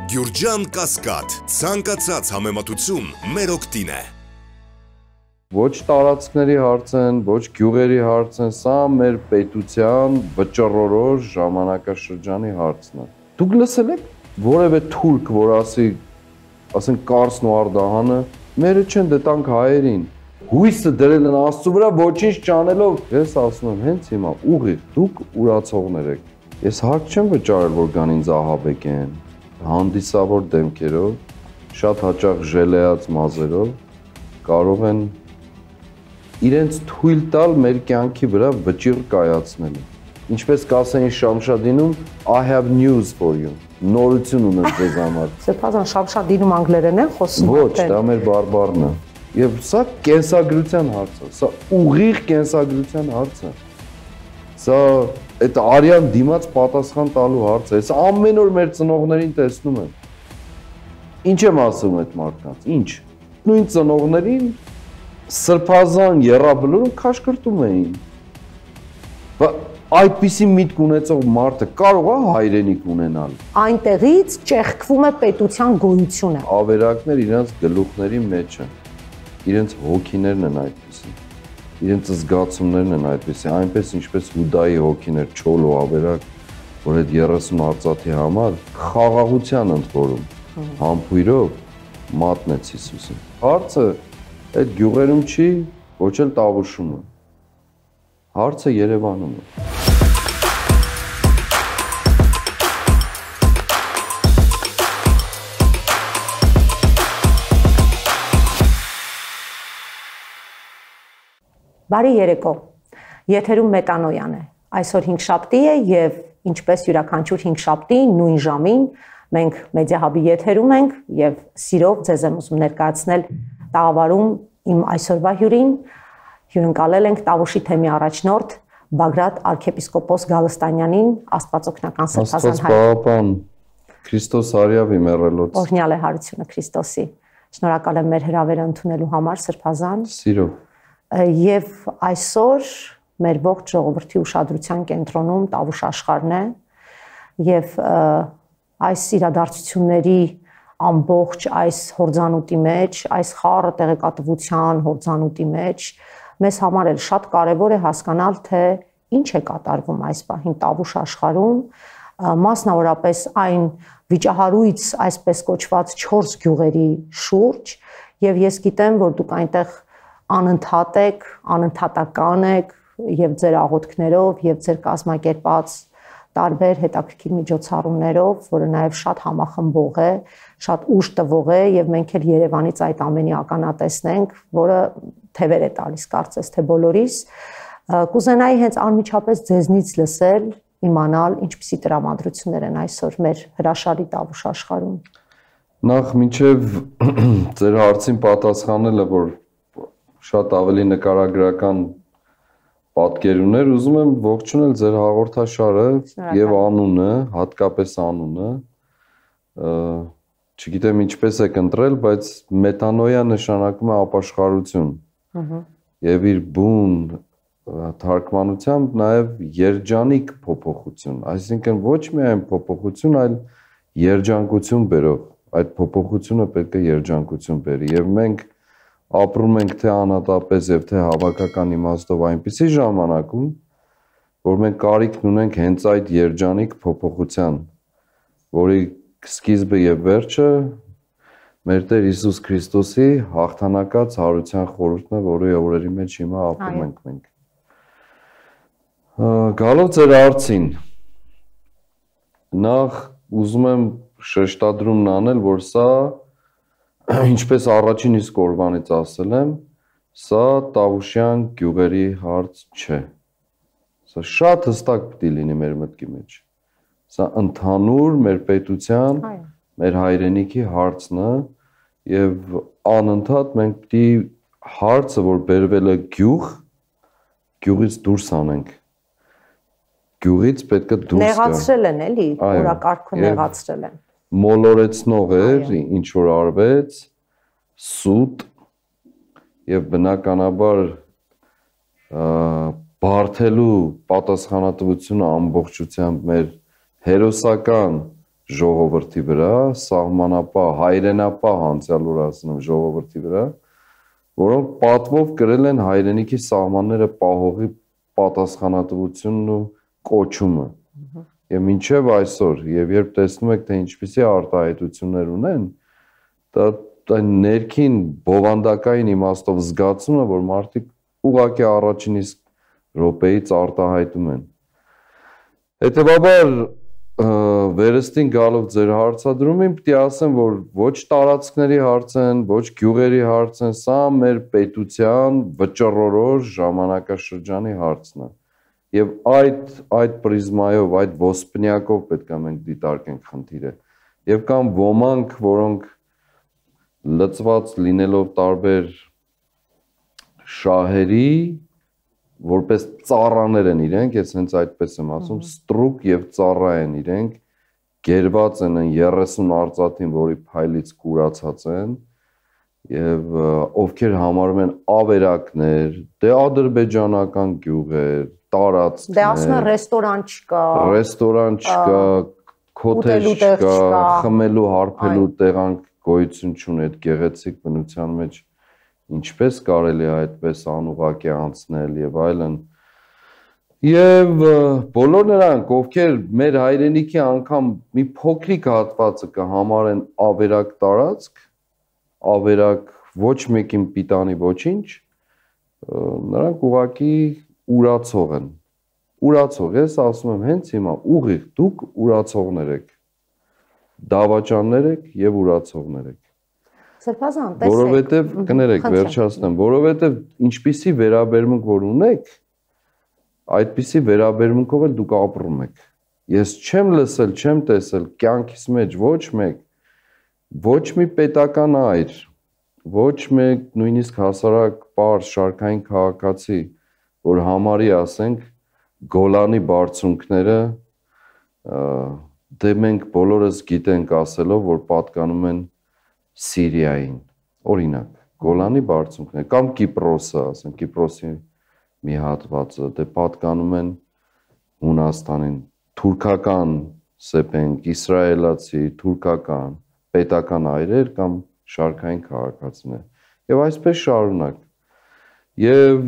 Գյուրջան Կասկադ, ցանկացած համեմատություն մեր օգտին է։ Ոչ տարածքների հարց են, ոչ գյուղերի հարց են, սա մեր պետության վճռորոշ ժամանակաշրջանի հարցն է։ Դուք լսել եք որևէ թուրք, որ ասենք Կարսն ու Արդահանը, մերը չեն դե տանք հայերին։ Հույսը դրել են Աստծո վրա ոչինչ չանելով։ Ես ասում եմ, հենց հիմա ուղիղ դուք ուրացողներ եք։ Ես հարկ չեմ վճարել, որ գան ինձ ահաբեկեն, հանդիսավոր դեմքերով, շատ հաճախ ժելեած մազերով կարող են իրենց թույլ տալ մեր կյանքի վրա վճիռ կայացնելու։ Ինչպես կասեին Շամշադինում, I have news for you։ Նորություն ունեմ ձեզ համար։ Սրբազան Շամշադինում անգլերեն են խոսում։ Ոչ, դա մեր բարբառն է։ Եվ սա կենսագրության հարց է, սա ուղիղ կենսագրության հարց է։ Սա այդ արյան դիմաց պատասխան տալու հարց է։ Սա ամեն օր մեր ծնողներին տեսնում եմ։ Ինչ եմ ասում այդ մարդկանց, ինչ։ Նույն ծնողներին սրբազան եռաբլուրում քաշքրտում էին։ Այդպիսի միտք ունեցող մարդը կարող է հայրենիք ունենալ։ Այնտեղից ճեղքվում է պետության գոյությունը։ Ավերակներ իրենց գլուխների մեջ են։ Իրենց հոգիներն են այդպիսի, իրենց զգացումներն են այդպիսի, այնպես ինչպես Հուդայի հոգին էր չոլ ու ավերակ, որ այդ 30 արծաթի համար խաղաղության ընդորում, համբույրով մատնեց Հիսուսին։ Հարցը այդ գյուղերում չի, ոչ էլ Տավուշում է, հարցը Երևանում է։ Բարի երեկո, եթերում Մետանոյան է, այսօր հինգշաբթի է և ինչպես յուրաքանչյուր հինգշաբթի նույն ժամին մենք Մեդիահաբի եթերում ենք և սիրով ձեզ եմ ուզում ներկայացնել տաղավարում իմ այսօրվա հյուրին, հյուրընկալել ենք Տավուշի թեմի առաջնորդ Բագրատ arczepiskopos Գալստանյանին, Աստվածօգնական Սրբազան Աստված Պապան, Քրիստոս արյավի մեռելոց։ Օրհնյալ է հարությունը Քրիստոսի, շնորհակալ եմ մեր հրավերը ընդունելու համար Սրբազան։ Սիրով։ Եվ այսօր մեր ողջ ժողովրդի ուշադրության կենտրոնում Տավուշ աշխարհն է եւ այս իրադարձությունների ամբողջ այս հորձանուտի մեջ, այս խառը տեղեկատվության հորձանուտի մեջ մեզ համար էլ շատ կարեւոր է հասկանալ, թե ինչ է կատարվում այս պահին Տավուշ աշխարհում, մասնավորապես այն վիճահարույց այսպես կոչված 4 գյուղերի շուրջ, եւ ես գիտեմ, որ դուք այնտեղ անընդհատ եք, անընդհատական եք եւ ձեր աղոթքներով եւ ձեր կազմակերպած տարբեր հետաքրքիր միջոցառումներով, որը նաեւ շատ համախմբող է, շատ ուժ տվող է եւ մենք էլ Երևանից այդ ամենի ականատեսն ենք, որը թևեր է տալիս կարծես թե բոլորիս։ Կուզենայի հենց անմիջապես ձեզնից լսել, իմանալ ինչպիսի տրամադրություններ են այսօր մեր հրաշալի Տավուշ աշխարհում։ Նախ մինչեւ ձեր հարցին պատասխանելը, որ շատ ավելի նկարագրական պատկեր ուներ, ուզում եմ ողջունել ձեր հաղորդաշարը եւ անունը, հատկապես անունը, չգիտեմ ինչպես եք ընտրել, բայց Մետանոյա նշանակում է ապաշխարություն։ Եվ իր բուն թարգմանությամբ նաեւ երջանիկ փոփոխություն, այսինքն ոչ միայն փոփոխություն, այլ երջանկություն բերող, այդ փոփոխությունը պետք է երջանկություն բերի եւ մենք ապրում ենք թե անհատապես եւ թե հավաքական իմաստով այնպիսի ժամանակում, որ մենք կարիքն ունենք հենց այդ երջանիկ փոփոխության, որի սկիզբը եւ վերջը մեր Տեր Հիսուս Քրիստոսի հաղթանակած հարության խորհուրդն է, որի օրերի մեջ հիմա ապրում ենք մենք։ Գալով ձեր հարցին, նախ ուզում եմ շեշտադրումն անել, որ սա ինչպես առաջին իսկ օրվանից ասել եմ, սա Տավուշյան գյուղերի հարց չէ։ Սա շատ հստակ պետք է լինի մեր մտքի մեջ։ Սա ընդհանուր մեր պետության, մեր հայրենիքի հարցն է եւ անընդհատ մենք պետք է հարցը, որ բերվել է գյուղից դուրս անենք։ Գյուղից պետք է դուրս գա։ Նեղացրել են էլի, օրակարգը նեղացրել են։ Մոլորեցնող էր, ինչ որ արվեց, սուտ եւ բնականաբար բարթելու պատասխանատվությունը ամբողջությամբ մեր հերոսական ժողովրդի վրա, սահմանապահ, հայրենապահ անցյալ որ ասում ժողովրդի վրա, որոնք պատվով կրել են հայրենիքի սահմանները պահողի պատասխանատվությունն ու կոչումը։ Եվ մինչև այսօր, եւ երբ տեսնում եք, թե ինչպիսի արտահայտություններ ունեն, դա ներքին բովանդակային իմաստով զգացում է, որ մարդիկ ուղղակի առաջին իսկ րոպեից արտահայտում են։ Հետևաբար վերստին գալով ձեր հարցադրումին պիտի ասեմ, որ ոչ տարածքների հարց են, ոչ գյուղերի հարց են, սա մեր պետության վճռորոշ ժամանակաշրջանի հարցն է։ Եվ այդ պրիզմայով, այդ ոսպնյակով պետք է մենք դիտարկենք խնդիրը։ Եվ կան ոմանք, որոնք լծված լինելով տարբեր շահերի, որպես ծառաներ են իրենք, ես հենց այդպես եմ ասում, ստրուկ եւ ծառա են իրենք, գերված են 30 արծաթին, որի փայլից կուրացած են, եւ ովքեր համարում են ավերակներ, դե ադրբեջանական գյուղեր, տարածքներ։ Դե ասում են ռեստորան չկա, քոթեջ չկա, խմելու, հարբելու տեղանք գոյություն չունի, այդ գեղեցիկ բնության մեջ ինչպես կարելի է այդպես անուղակի անցնել եւ այլն։ Եվ բոլոր նրանք, ովքեր մեր հայրենիքի անգամ մի փոքրիկ հատվածը կհամարեն ավերակ տարածք, ավերակ ոչ մեկին պիտանի ոչինչ, նրանք ուղղակի ուրացող են։ Ուրացող, ես ասում եմ հենց հիմա ուղիղ դուք ուրացողներ եք, դավաճաններ եք եւ ուրացողներ եք։ Սրբազան, տեսեք։ Որովհետև կներեք, վերջացնեմ, որովհետև ինչպիսի վերաբերմունք որ ունեք, այդպիսի վերաբերմունքով էլ դուք ապրում եք։ Ես չեմ լսել, չեմ տեսել կյանքիս մեջ ոչ մեկ, ոչ մի պետական այր, ոչ մեկ նույնիսկ հասարակ պարզ շարքային քաղաքացի, որ համարի ասենք Գոլանի բարձունքները, դե մենք բոլորս գիտենք ասելով, որ պատկանում են Սիրիային, օրինակ, Գոլանի բարձունքները, կամ Կիպրոսը, ասենք Կիպրոսի մի հատվածը, դե պատկանում են Հունաստանին, թուրքական սեպենք, իսրայելացի, թուրքական, պետական այրեր կամ շարքային քաղաքացիներ։ Եվ այսպես շարունակ։ Եվ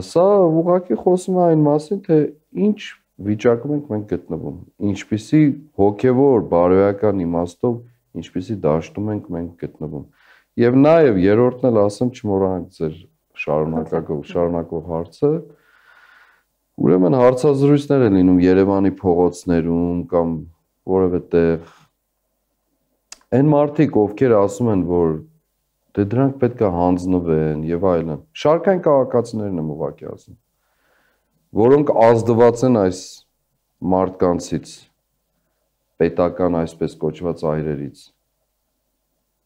սա ուղղակի խոսում է այն մասին, թե ինչ վիճակում ենք մենք գտնվում, ինչպիսի հոգևոր բարոյական իմաստով, ինչպիսի դաշտում ենք մենք գտնվում։ Եվ նաև երրորդն էլ ասեմ, չմոռանաք ձեր շարունակող հարցը, ուրեմն հարցազրույցներ են լինում Երևանի փողոցներում կամ որևէ տեղ։ Այն մարդիկ, ովքեր ասում են, որ դե դրանք պետք է հանձնվեն եւ այլն, շարքային քաղաքացիներն եմ ուղղակի ասում, որոնք ազդված են այս մարդկանցից, պետական այսպես կոչված այրերից։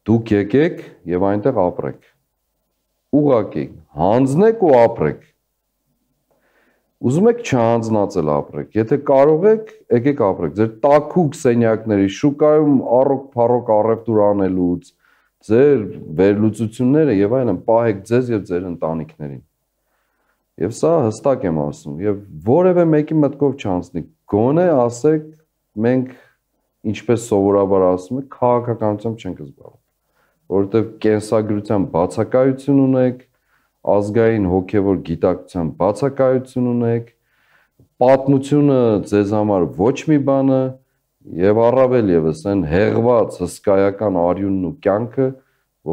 Դուք եկեք եւ այնտեղ ապրեք։ Ուղղակի հանձնեք ու ապրեք։ Ուզում եք չհանձնացել ապրեք։ Եթե կարող եք, եկեք ապրեք։ Ձեր տաքուկ սենյակների շուկայում առոք-փառոք առևտուր անելուց, ձեր վերլուծությունները եւ այլն պահեք ձեզ եւ ձեր ընտանիքներին։ Եվ սա հստակ եմ ասում, եւ որևէ մեկի մտքով չանցնի։ Գոնե ասեք, մենք ինչպես սովորաբար ասում ենք, քաղաքականությամբ չենք զբաղվում, որովհետեւ կենսագրության բացակայություն ունեք, ազգային հոգևոր գիտակցության բացակայություն ունեք, պատմությունը ձեզ համար ոչ մի բան է եւ առավել եւս այն հեղված հսկայական արյունն ու կյանքը,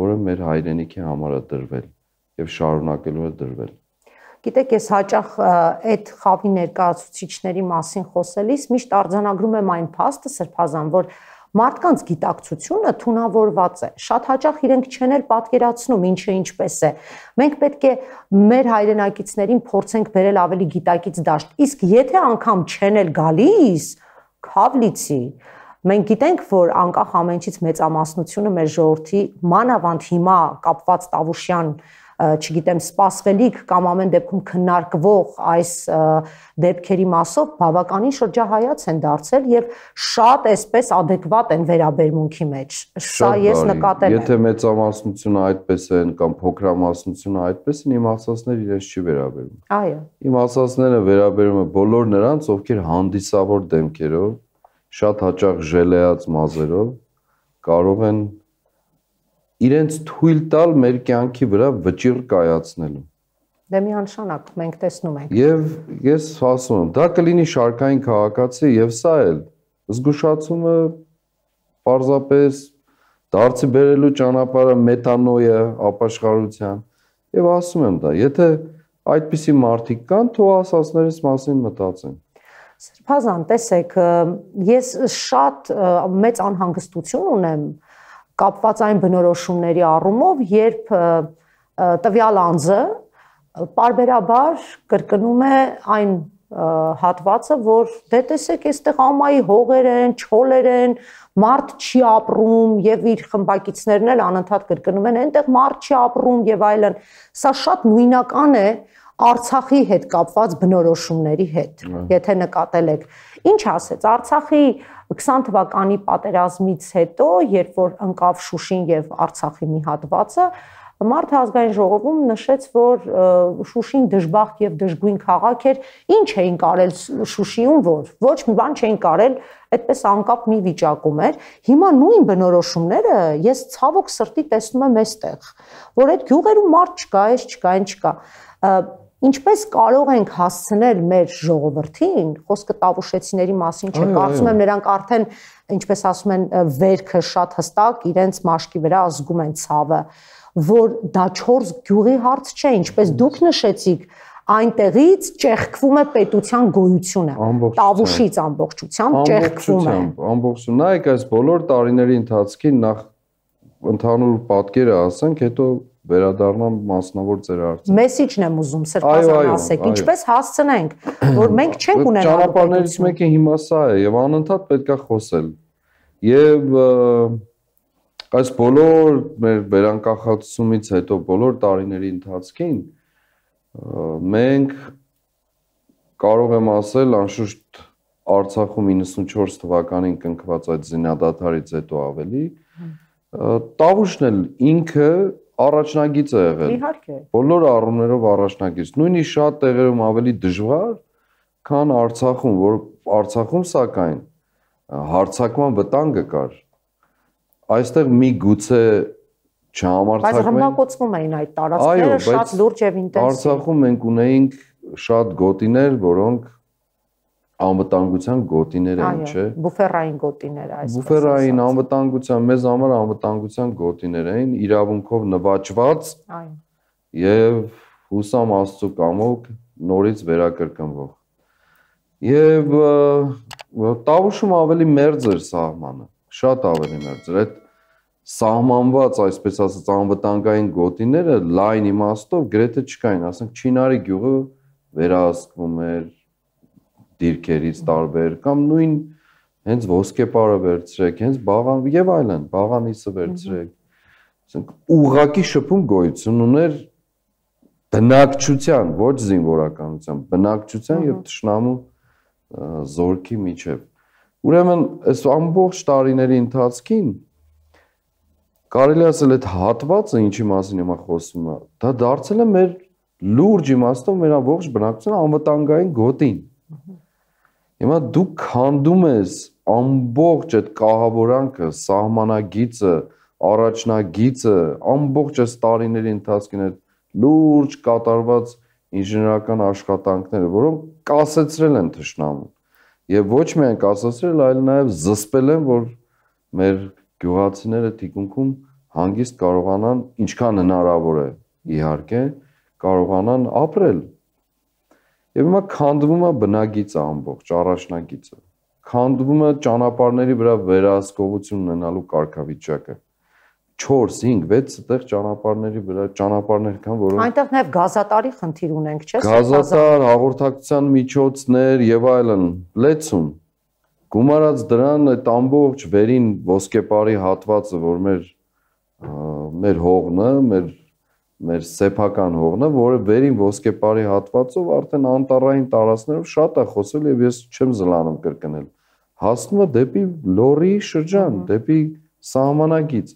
որը մեր հայրենիքի համար է դրվել եւ շարունակելու է դրվել։ Գիտեք, ես հաճախ այդ խավի ներկայացուցիչների մասին խոսելիս միշտ արձանագրում եմ այն փաստը, Սրբազան, որ մարդկանց գիտակցությունը թունավորված է։ Շատ հաճախ իրենք չեն էլ պատկերացնում ինչը ինչպես է։ Մենք պետք է մեր հայրենակիցներին փորձենք բերել ավելի գիտակից դաշտ։ Իսկ եթե անգամ չեն էլ գալիս, քավլիցի, մենք գիտենք, որ անկախ ամենից մեծամասնությունը մեր ժողովրդի մանավանդ հիմա կապված Տավուշյան չգիտեմ, սպասվելիք կամ ամեն դեպքում քննարկվող այս դեպքերի մասով բավականին շրջահայաց են դարձել եւ շատ այսպես adekvat են վերաբերմունքի մեջ։ Սա ես նկատել եմ։ Եթե մեծամասնությունը այդպես են կամ փոքրամասնությունը այդպես են, իմացածները իրենց չի վերաբերում։ Այո։ Իմացածները վերաբերում են բոլոր նրանց, ովքեր հանդիսավոր դեմքերով շատ հաճախ ժելեած մազերով կարող են իրենց թույլ տալ մեր կյանքի վրա վճիռ կայացնելու։ Դե միանշանակ մենք տեսնում ենք։ Եվ ես ասում եմ, դա կլինի շարքային քաղաքացի եւ սա էլ զգուշացումը պարզապես դարձի բերելու ճանապարհը մեթանոյա ապաշխարության եւ ասում եմ դա, եթե այդպիսի մարդիկ կան, թող ասածներից մասին մտածեն։ Սրբազան, տեսեք, ես շատ մեծ անհանգստություն ունեմ կապված այն բնորոշումների առումով, երբ տվյալ անձը պարբերաբար կրկնում է այն հատվածը, որ դե տեսեք, այստեղ ամայի հողեր են, չոլեր են, մարդ չի ապրում եւ իր խմբակիցներն էլ անընդհատ կրկնում են, այնտեղ մարդ չի ապրում եւ այլն։ Սա շատ նույնական է Արցախի հետ կապված բնորոշումների հետ, եթե նկատել եք։ Ինչ ասեց Արցախի 20 թվականի պատերազմից հետո, երբ որ ընկավ Շուշին եւ Արցախի մի հատվածը, Մարդու ազգային ժողովում նշեց, որ Շուշին դժբախտ եւ դժգույն քաղաք էր, ինչ էին կարել Շուշիում, որ ոչ մի բան չէին կարել, այդպես անկապ մի վիճակում էր։ Հիմա նույն բնորոշումները ես ցավոք սրտի տեսնում եմ այստեղ, որ այդ գյուղերում մարդ չկա, այս չկա, այն չկա։ Ինչպես կարող ենք հասցնել մեր ժողովրդին, խոսքը Տավուշեցիների մասին չէ, կարծում եմ նրանք արդեն, ինչպես ասում են, վերքը շատ հստակ իրենց մաշկի վրա ազգում են ցավը, որ դա 4 գյուղի հարց չէ, ինչպես դուք նշեցիք, այնտեղից ճեղքվում է պետության գոյությունը, Տավուշից ամբողջությամբ ճեղքվում է։ Ամբողջությամբ, նայեք այս բոլոր տարիների ընթացքին նախ ընդհանուր պատկերը ասենք, հետո վերադառնամ մասնավոր ձեր հարցին։ Մեսիջն եմ ուզում, սրբազան ասեք, ինչպես հասցնենք, որ մենք չենք ունենալու ճանապարհներից մեկը հիմա սա է եւ անընդհատ պետքա խոսել։ Եվ այս բոլոր մեր վերանկախացումից հետո բոլոր տարիների ընթացքին մենք կարող եմ ասել անշուշտ Արցախում 94 թվականին կնքված այդ զինադադարից հետո ավելի Տավուշն էլ ինքը առաջնագիծ է եղել։ Իհարկե։ Բոլոր առումներով առաջնագիծ։ Նույնիսկ շատ տեղերում ավելի դժվար, քան Արցախում, որ Արցախում սակայն հարձակման վտանգը կար։ Այստեղ մի գուցե չհամարձակվեն։ Բայց ռմբակոծվում էին այդ տարածքները շատ լուրջ եւ ինտենսիվ։ Արցախում մենք ունեինք շատ գոտիներ, որոնք անվտանգության գոտիներ էին, չէ։ Բուֆերային գոտիներ այսպես։ Բուֆերային անվտանգության, մեզ համար անվտանգության գոտիներ էին, իրավունքով նվաճված եւ հուսամ Աստծո կամոք նորից վերակրկնվող։ Եվ Տավուշում ավելի մերձ էր սահմանը, շատ ավելի մերձ էր։ Այդ սահմանված, այսպես ասած, անվտանգային գոտիները լայն իմաստով գրեթե չկային, ասենք Չինարի գյուղը վերահսկվում էր դիրքերից տարբեր կամ նույն հենց ոսկեպարը վերցրեք, հենց բաղան եւ այլն, բաղանիսը վերցրեք։ Ասենք ուղղակի շփում գոյություն ուներ բնակչության, ոչ զինվորականության, բնակչության եւ թշնամու զորքի միջև։ Ուրեմն այս ամբողջ տարիների ընթացքին կարելի ասել այդ հատվածը, ինչի մասին հիմա խոսում եմ, դա դարձել է մեր լուրջ իմաստով մեր ամբողջ բնակչության անվտանգային գոտին։ Հիմա դու քանդում ես ամբողջ այդ կահավորանքը, սահմանագիծը, առաջնագիծը, ամբողջ այս տարիների ընթացքին այդ լուրջ կատարված ինժեներական աշխատանքները, որոնք կասեցրել են թշնամուն։ Եվ ոչ միայն կասեցրել, այլ նաև զսպել են, որ մեր գյուղացիները թիկունքում հանգիստ կարողանան, ինչքան հնարավոր է, իհարկե, կարողանան ապրել։ Եվ հիմա քանդվում է բնագիծը ամբողջ, առաջնագիծը։ Քանդվում է ճանապարհների վրա վերահսկողություն ունենալու կարգավիճակը։ 4, 5, 6 տեղ ճանապարհների վրա ճանապարհներ կան, որոնք այնտեղ նաև գազատարի խնդիր ունենք, չէ՞։ Գազատար, հաղորդակցության միջոցներ եւ այլն, լեցուն։ Գումարած դրան այդ ամբողջ վերին ոսկեպարի հատվածը, որ մեր հողն է, մեր սեփական հողն է, որը վերին ոսկեպարի հատվածով արդեն անտառային տարածքներով շատ է խոսել եւ ես չեմ զլանում կրկնել։ Հասնում է դեպի Լոռի շրջան, դեպի սահմանագիծ։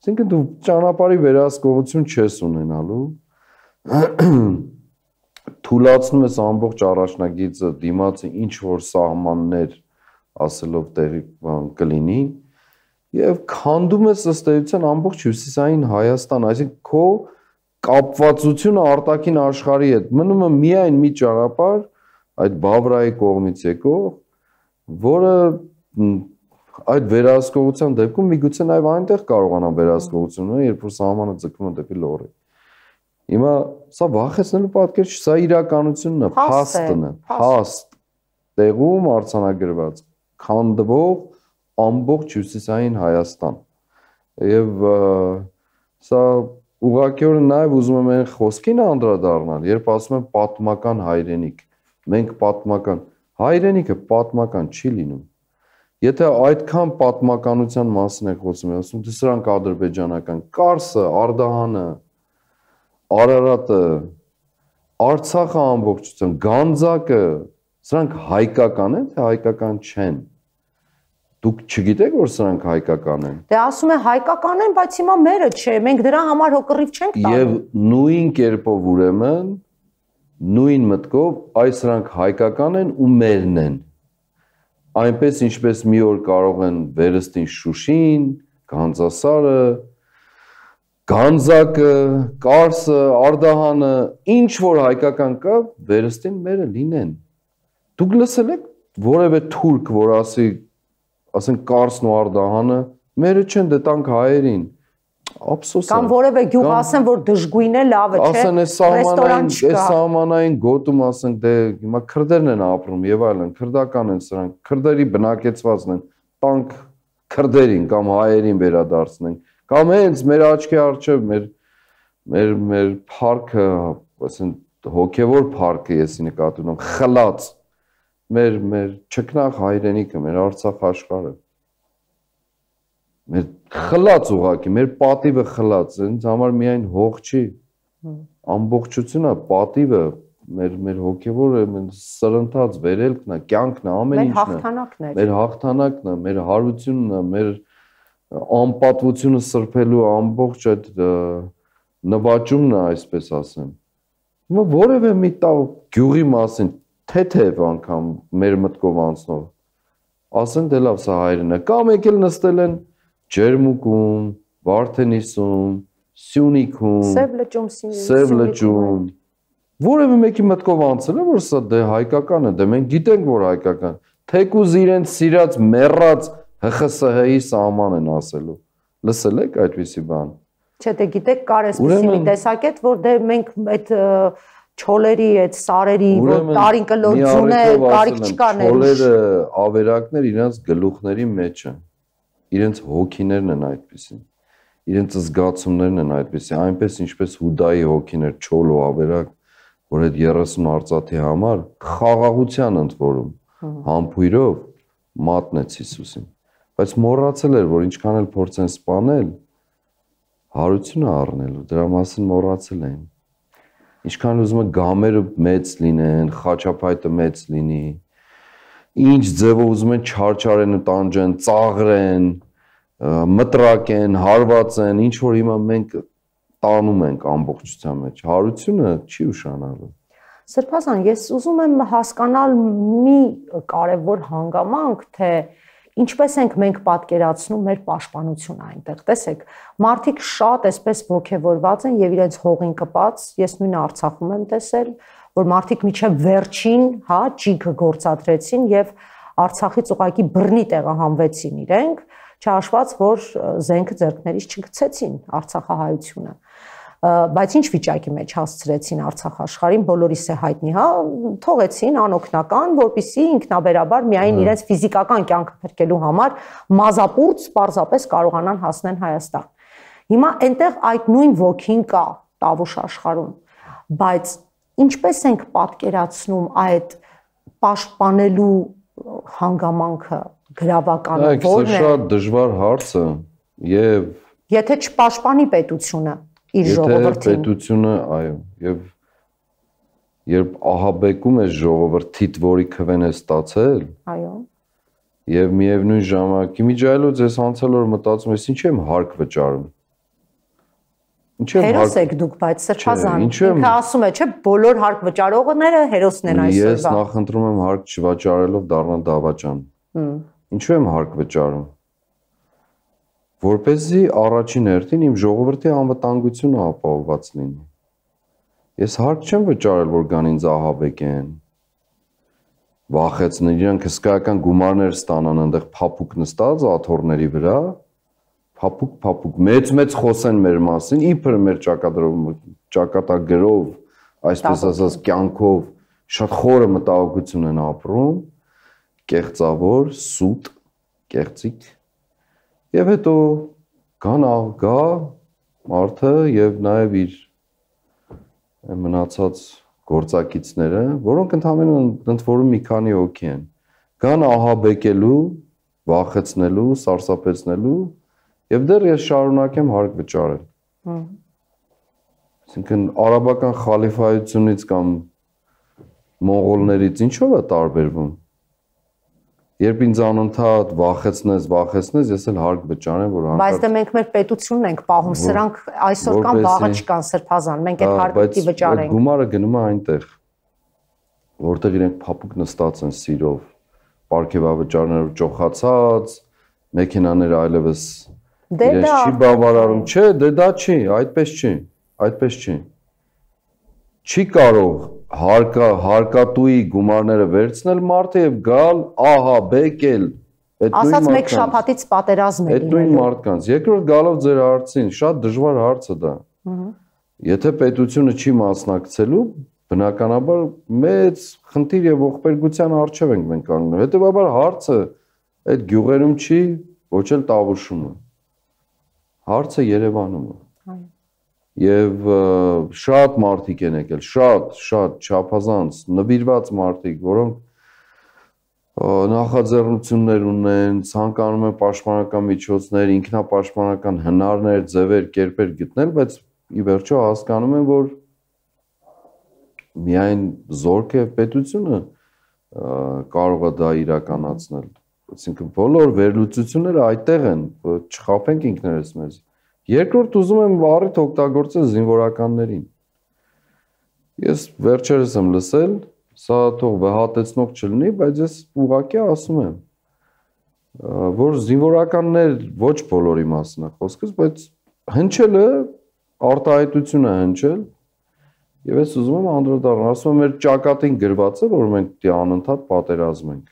Այսինքն դու ճանապարհի վերահսկողություն չես ունենալու։ Թուլացնում ես ամբողջ առաջնագիծը, դիմացի ինչ որ սահմաններ ասելով տեղի բան կլինի եւ քանդում ես ըստ էության ամբողջ հյուսիսային Հայաստան, այսինքն քո կապվածությունը արտաքին աշխարհի հետ մնում է միայն մի ճանապարհ այդ Բավրայի կողմից եկող, որը այդ վերահսկողության դեպքում միգուցե նաև այնտեղ կարողանան վերահսկողություն ունենալ, երբ որ սահմանը ձգվում է դեպի լոռի։ Հիմա սա վախեցնելու պատկեր չի, սա իրականությունն է, փաստն է, փաստ տեղում արձանագրված, քանդվող ամբողջ հյուսիսային Հայաստան։ Եվ սա ուղղակիորեն նաև ուզում եմ այն խոսքին անդրադառնալ, երբ ասում են պատմական հայրենիք, մենք պատմական, հայրենիքը պատմական չի լինում։ Եթե այդքան պատմականության մասին եք խոսում, ասում դե սրանք ադրբեջանական, Կարսը, Արդահանը, Արարատը, Արցախը ամբողջությամբ, Գանձակը, սրանք հայկական են, թե հայկական չեն։ Դուք չգիտեք, որ սրանք հայկական են։ Դե ասում է հայկական են, բայց հիմա մերը չէ, մենք դրա համար հոգռիվ չենք տալու։ Եվ նույն կերպով ուրեմն, նույն մտքով, այս սրանք հայկական են ու մերն են։ Այնպես ինչպես մի օր կարող են վերստին Շուշին, Գանձասարը, Գանձակը, Կարսը, Արդահանը, ինչ որ հայկական կա, վերստին մերը լինեն։ Դուք լսել եք որևէ թուրք, որ ասի, ասենք Կարսն ու Արդահանը, մերը չեն, դե տանք հայերին։ Ափսոս է։ Կամ որևէ գյուղ ասեն, որ դժգույն է, լավ է, չէ։ Ասեն է սահմանային գոտում ասենք դե հիմա քրդերն են ապրում եւ այլն, քրդական են սրանք, քրդերի բնակեցվածն են, տանք քրդերին կամ հայերին վերադարձնենք, կամ հենց մեր աչքի առջև մեր парքը, ասեն հոգեվոր парքը եսի նկատի ունեմ, խլած մեր չքնաղ հայրենիքը, մեր Արցախ աշխարհը մեր խլած ուղակի, մեր պատիվը խլած, ինձ համար միայն հող չի, ամբողջությունը, պատիվը, մեր հոգևորը, մեր սրընթաց, վերելքն է, կյանքն է, ամեն ինչն է, մեր հաղթանակն է, մեր հարությունն է, մեր անպատվությունը սրբելու ամբողջ այդ նվաճումն է, այսպես ասեմ։ Հիմա որևէ մի գյուղի մասին, թեթև անգամ մեր մտքով անցնող, ասեն դե լավ սա հայրենն է, կամ եկել նստել են Ջերմուկում, Վարդենիսում, Սյունիքում, Սև լճում, որևէ մեկի մտքով անցել է, որ սա դե հայկական է, դե մենք գիտենք, որ հայկական, թեկուզ իրենց սիրած, մեռած ՀԽՍՀ-ի սահման են ասելու, լսել եք այդպիսի բան։ Չէ, դե գիտեք, կար էսպիսի մի տեսակետ, որ դե մենք այդ չոլերի, այդ սարերի, որ տարին կլորձուն է, կարիք չկա ներուշ։ Չոլերը, ավերակներ իրենց գլուխների մեջ են։ Իրենց հոգիներն են այդպիսին, իրենց զգացումներն են այդպիսին, այնպես ինչպես Հուդայի հոգին էր չոլ ու ավերակ, որ այդ 30 արծաթի համար խաղաղության ընդ որում, համբույրով մատնեց Հիսուսին, բայց մոռացել էր, որ ինչքան էլ փորձեն սպանել, հարությունը առնելու, դրա մասին մոռացել էին, ինչքան ուզում է գամերը մեծ լինեն, խաչապայտը մեծ լինի, ինչ ձևով ուզում են չարչարեն ու տանջեն, ծաղրեն, մտրակեն, հարվածեն, ինչ որ հիմա մենք տանում ենք ամբողջության մեջ, հարությունը չի ուշանալու։ Սրբազան, ես ուզում եմ հասկանալ մի կարևոր հանգամանք, թե ինչպես ենք մենք պատկերացնում մեր պաշտպանությունը այնտեղ։ Տեսեք, մարդիկ շատ այսպես ոգևորված են եւ իրենց հողին կպած, ես նույն Արցախում եմ տեսել, որ մարդիկ միջև վերջին, հա, ջիգը գործադրեցին եւ Արցախից ուղակի բռնի տեղահանվեցին իրենք, չհաշված որ զենքը ձեռքներից չգցեցին Արցախահայությունը, բայց ինչ վիճակի մեջ հասցրեցին Արցախ աշխարհին, բոլորիս է հայտնի, հա, թողեցին անօգնական, որպեսզի ինքնաբերաբար միայն իրենց ֆիզիկական կյանքը փրկելու համար մազապուրծ պարզապես կարողանան հասնեն Հայաստան։ Հիմա այնտեղ այդ նույն ոգին կա Տավուշ աշխարհում, բայց ինչպես ենք պատկերացնում այդ պաշտպանելու հանգամանքը, գրավականը, որն է։ Դա շատ դժվար հարց է եւ եթե չպաշտպանի պետությունը իր ժողովրդին։ Եթե պետությունը, այո, եւ երբ ահաբեկում է ժողովրդիդ, որի քվեն է ստացել, այո, եւ միևնույն ժամանակ իմիջայլոց ես անցել որ մտածում ես ինչի եմ հարկ վճարում։ Հերոս եք դուք, բայց Սրբազան, ինքը ասում է, չէ, բոլոր հարկ վճարողները հերոսն են այսօրվա։ Ես նախընտրում եմ հարկ չվաճառելով դառնալ դավաճան։ Ինչու եմ հարկ վճարում։ Որպեսզի առաջին հերթին իմ ժողովրդի անվտանգությունը ապահովված լինի։ Ես հարկ չեմ վճարել, որ գան ինձ ահաբեկեն, վախեցնեն, իրանք հսկայական գումարներ ստանան այնտեղ փափուկ նստած աթոռների վրա, փափուկ, մեծ խոսեն մեր մասին, իբր մեր ճակատագրով, այսպես ասած, կյանքով շատ խորը մտահոգություն են ապրում, կեղծավոր, սուտ, կեղծիկ, եւ հետո գա մարդը եւ նաեւ իր մնացած գործակիցները, որոնք ընդհանրապես ընդ որում մի քանի հոգի են, գան ահաբեկելու, վախեցնելու, սարսափեցնելու եւ դեռ ես շարունակեմ հարկ վճարել։ Այսինքն արաբական խալիֆայությունից կամ մոնղոլներից ինչով է տարբերվում։ Երբ ինձ անընդհատ վախեցնես, ես էլ հարկ վճարեմ, որ հանկարծ։ Բայց դե մենք մեր պետությունն ենք պահում, սրանք այսօր կան, վաղը չկան, Սրբազան, մենք այդ հարկը պիտի վճարենք։ Բայց գումարը գնում է այնտեղ, որտեղ իրենք փափուկ նստած են սիրով, պարգևավճարներով ճոխացած, մեքենաները այլևս իրենց չի բավարարում, չէ, դե դա չի, այդպես չի։ Չի կարող հարկատուի գումարները վերցնել մարդը եւ գալ ահաբեկել։ Ասած մեկ շաբաթից պատերազմ է լինելու։ Այդ նույն մարդկանց։ Երկրորդ գալով ձեր հարցին, շատ դժվար հարց է դա։ Եթե պետությունը չի մասնակցելու, բնականաբար մեծ խնդիր եւ ողբերգության առջեւ ենք մենք կանգնում։ Հետեւաբար հարցը այդ գյուղերում չի, ոչ էլ Տավուշում։ Հարցը Երևանում է։ Եվ շատ մարդիկ են եկել, շատ չափազանց նվիրված մարդիկ, որոնք նախաձեռնություններ ունեն, ցանկանում են պաշտպանական միջոցներ, ինքնապաշտպանական հնարներ, ձևեր, կերպեր գտնել, բայց ի վերջո հասկանում են, որ միայն զորք եւ պետությունը կարող է դա իրականացնել։ Այսինքն բոլոր վերլուծությունները այդտեղ են, չխաբենք ինքներս մեզ։ Երկրորդ ուզում եմ առիթ օգտագործել զինվորականներին։ Ես վերջերս եմ լսել, սա թող վհատեցնող չլինի, բայց ես ուղղակի ասում եմ, որ զինվորականներ ոչ բոլորի մասն է խոսքս, բայց հնչելը արտահայտություն է հնչել, եւ ես ուզում եմ անդրադառնալ, ասում եմ մեր ճակատին գրված է, որ մենք դի անընդհատ պատերազմ ենք։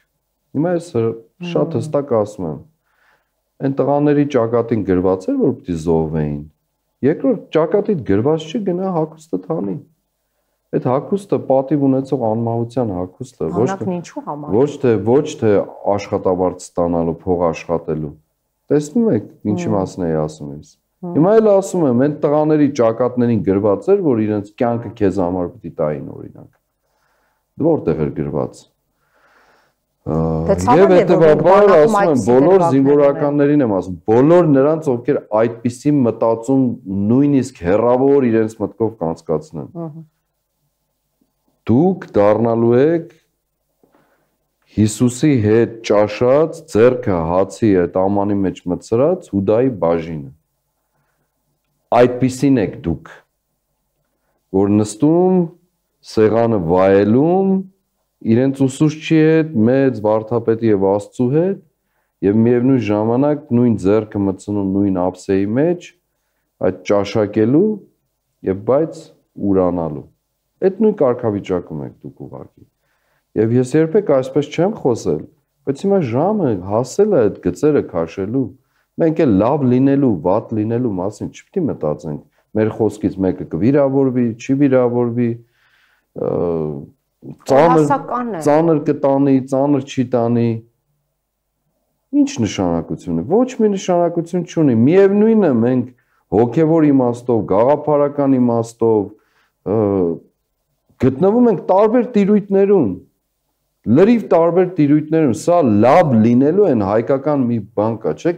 Հիմա ես շատ հստակ ասում եմ, այն տղաների ճակատին գրված էր, որ պիտի զոհվեին։ Երկրորդ ճակատիդ գրված չի, գնա հագուստը թանի։ Այդ հագուստը պատիվ ունեցող անմահության հագուստ է, ոչ թե աշխատավարձ ստանալու, փող աշխատելու։ Տեսնում եք, ինչի մասին էի ասում ես։ Հիմա էլ ասում եմ, այն տղաների ճակատներին գրված էր, որ իրենց կյանքը քեզ համար պիտի տային օրինակ։ Որտեղ էր գրված։ Եվ հետևաբար ասում եմ, բոլոր զինվորականներին եմ ասում, բոլոր նրանց, ովքեր այդպիսի մտածում նույնիսկ հեռավոր իրենց մտքով կանցկացնեն։ Դուք դառնալու եք Հիսուսի հետ ճաշած, ձեռքը հացի այդ ամանի մեջ մտցրած Հուդայի բաժինը։ Այդպիսին եք դուք, որ նստում, սեղանը վայելում, իրենց ուսուցչի հետ, մեծ վարդապետի եւ Աստծու հետ եւ միևնույն ժամանակ նույն ձեռքը մտցնում նույն ափսեի մեջ, այդ ճաշակելու եւ բայց ուրանալու։ Այդ նույն կարգավիճակում եք դուք ուղղակի։ Եվ ես երբեք այսպես չեմ խոսել, բայց հիմա ժամը հասել է այդ գծերը քաշելու։ Մենք էլ լավ լինելու, վատ լինելու մասին չպիտի մտածենք։ Մեր խոսքից մեկը կվիրավորվի, չի վիրավորվի, ծանր կտանի, ծանր չի տանի։ Ինչ նշանակություն է։ Ոչ մի նշանակություն չունի։ Միևնույնն է, մենք հոգևոր իմաստով, գաղափարական իմաստով գտնվում ենք տարբեր տիրույթներում։ Լրիվ տարբեր տիրույթներում։ Սա լավ լինելու են հայկական մի բան կա, չէ՞։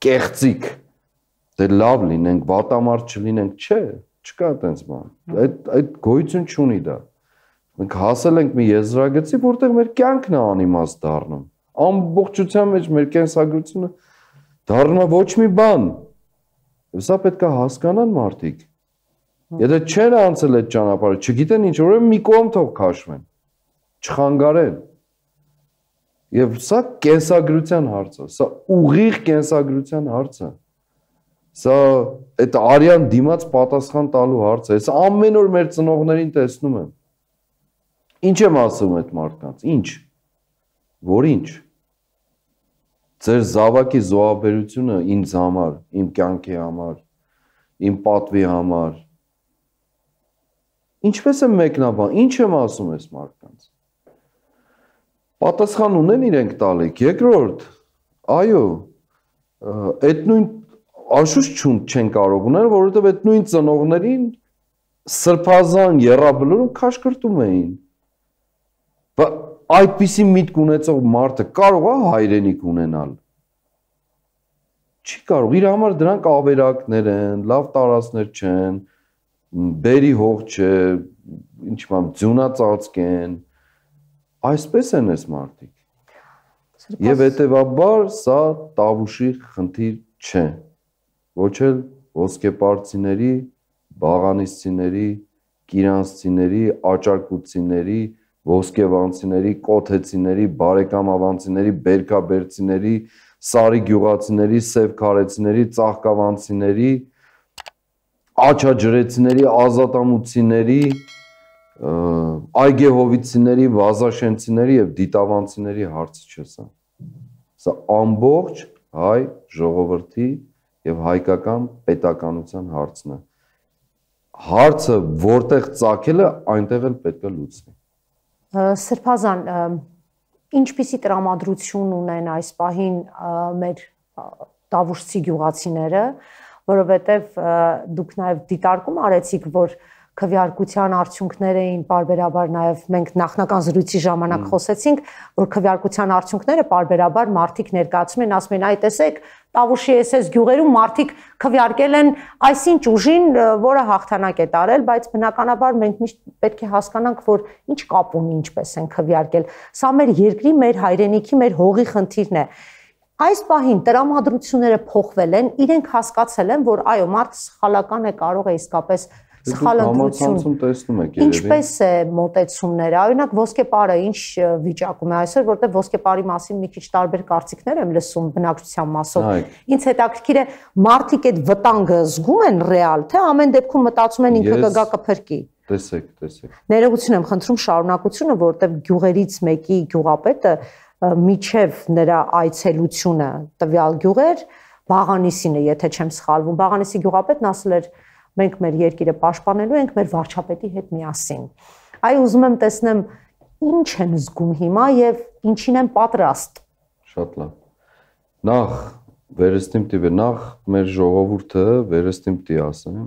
Կեղծիկ։ Դե լավ լինենք, վատամարդ չլինենք, չէ, չկա այդպես բան։ Այդ գոյություն չունի դա։ Մենք հասել ենք մի եզրագծի, որտեղ մեր կյանքն է անիմաստ դառնում։ Ամբողջության մեջ մեր կենսագրությունը դառնում է ոչ մի բան։ Եվ սա պետք է հասկանան մարդիկ։ Եթե չեն անցել այդ ճանապարհը, չգիտեն ինչ, ուրեմն մի կողմ թող քաշվեն, չխանգարեն։ Եվ սա կենսագրության հարց է, սա ուղիղ կենսագրության հարց է։ Սա այդ արյան դիմաց պատասխան տալու հարց է։ Ես ամեն օր մեր ծնողներին տեսնում եմ։ Ինչ եմ ասում այդ մարդկանց։ Ինչ։ Որ ինչ։ Ձեր զավակի զոհաբերությունը ինձ համար, իմ կյանքի համար, իմ պատվի համար։ Ինչպես եմ մեկնաբան, ինչ եմ ասում այս մարդկանց։ Պատասխան ունեն իրենք տալիք։ Երկրորդ, այո, այդ նույն անշուշտ չեն կարող ունել, որովհետև այդ նույն ծնողներին սրբազան եռաբլուրում քաշքրտում էին։ Բայց այդպիսի միտք ունեցող մարդը կարող է հայրենիք ունենալ։ Չի կարող, իր համար դրանք ավերակներ են, լավ տարածքներ չեն, բերի հող չէ, ինչ բան, ձյունածածկ են։ Այսպես են այս մարդիկ։ Եվ հետևաբար սա Տավուշի խնդիր չէ։ Ոչ էլ ոսկեպարծիների, բաղանիսցիների, կիրանցիների, աճարկուցիների, ոսկևանցիների, կոթեցիների, բարեկամավանցիների, բերքաբերցիների, սարի գյուղացիների, սև քարեցիների, ծաղկավանցիների, աչաջրեցիների, ազատամուցիների, այգեհովիցիների, վազաշենցիների եւ դիտավանցիների հարցը չէ սա։ Սա ամբողջ հայ ժողովրդի եւ հայկական պետականության հարցն է։ Հարցը որտեղ ծագել է, այնտեղ էլ պետք է լուծվի։ Սրբազան, ինչպիսի տրամադրություն ունեն այս պահին մեր տավուշցի գյուղացիները, որովհետև դուք նաև դիտարկում արեցիք, որ քվեարկության արդյունքները էին պարբերաբար նաև մենք նախնական զրույցի ժամանակ խոսեցինք, որ քվեարկության արդյունքները պարբերաբար մարդիկ ներկայացնում են, ասում են, այ տեսեք, Տավուշի SS գյուղերում մարդիկ քվեարկել են այսինչ ուժին, որը հաղթանակ է տարել, բայց բնականաբար մենք միշտ պետք է հասկանանք, որ ինչ կապ ունի, ինչպես են քվեարկել։ Սա մեր երկրի, մեր հայրենիքի, մեր հողի խնդիրն է։ Այս պահին տրամադրությունները փոխվել են, իրենք հասկացել են, որ այո, մարդը սխալական է, կարող է իսկապես սխալ ընտրություն տեսնում եք երևի։ Ինչպես է մոտեցումները, օրինակ ոսկեպարը ինչ վիճակում է այսօր, որտեղ ոսկեպարի մասին մի քիչ տարբեր կարծիքներ եմ լսում բնակչության մասով։ Ինձ հետաքրքիր է մարդիկ այդ վտանգը զգում են ռեալ, թե ամեն դեպքում մտածում են ինքը կգա կփրկի։ Տեսեք։ Ներողություն եմ խնդրում շարունակությունը, որտեղ գյուղերից մեկի գյուղապետը միջև նրա այցելությունը տվյալ գյուղեր Բաղանիսին է, եթե չեմ սխալվում, Բաղանիսի գյուղապետն ասել էր մենք մեր երկիրը պաշտպանելու ենք մեր վարչապետի հետ միասին։ Այ ուզում եմ տեսնեմ ինչ են զգում հիմա եւ ինչին են պատրաստ։ Շատ լավ։ Նախ վերստիմ տիպը, նախ մեր ժողովուրդը վերստիմ տի ասեմ,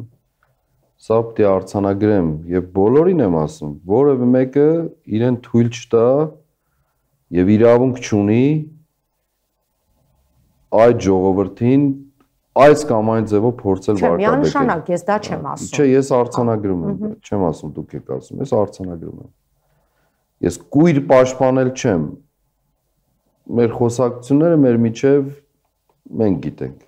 սա պիտի արձանագրեմ եւ բոլորին եմ ասում, որևէ մեկը իրեն թույլ չտա եւ իրավունք չունի այդ ժողովրդին այս կամ այն ձևով փորձել վարկաբեկել։ Չէ, միանշանակ, ես դա չեմ ասում։ Չէ, ես արձանագրում եմ, չեմ ասում դուք եք ասում, ես արձանագրում եմ։ Ես կույր պաշտպանել չեմ։ Մեր խոսակցությունները մեր միջև մենք գիտենք։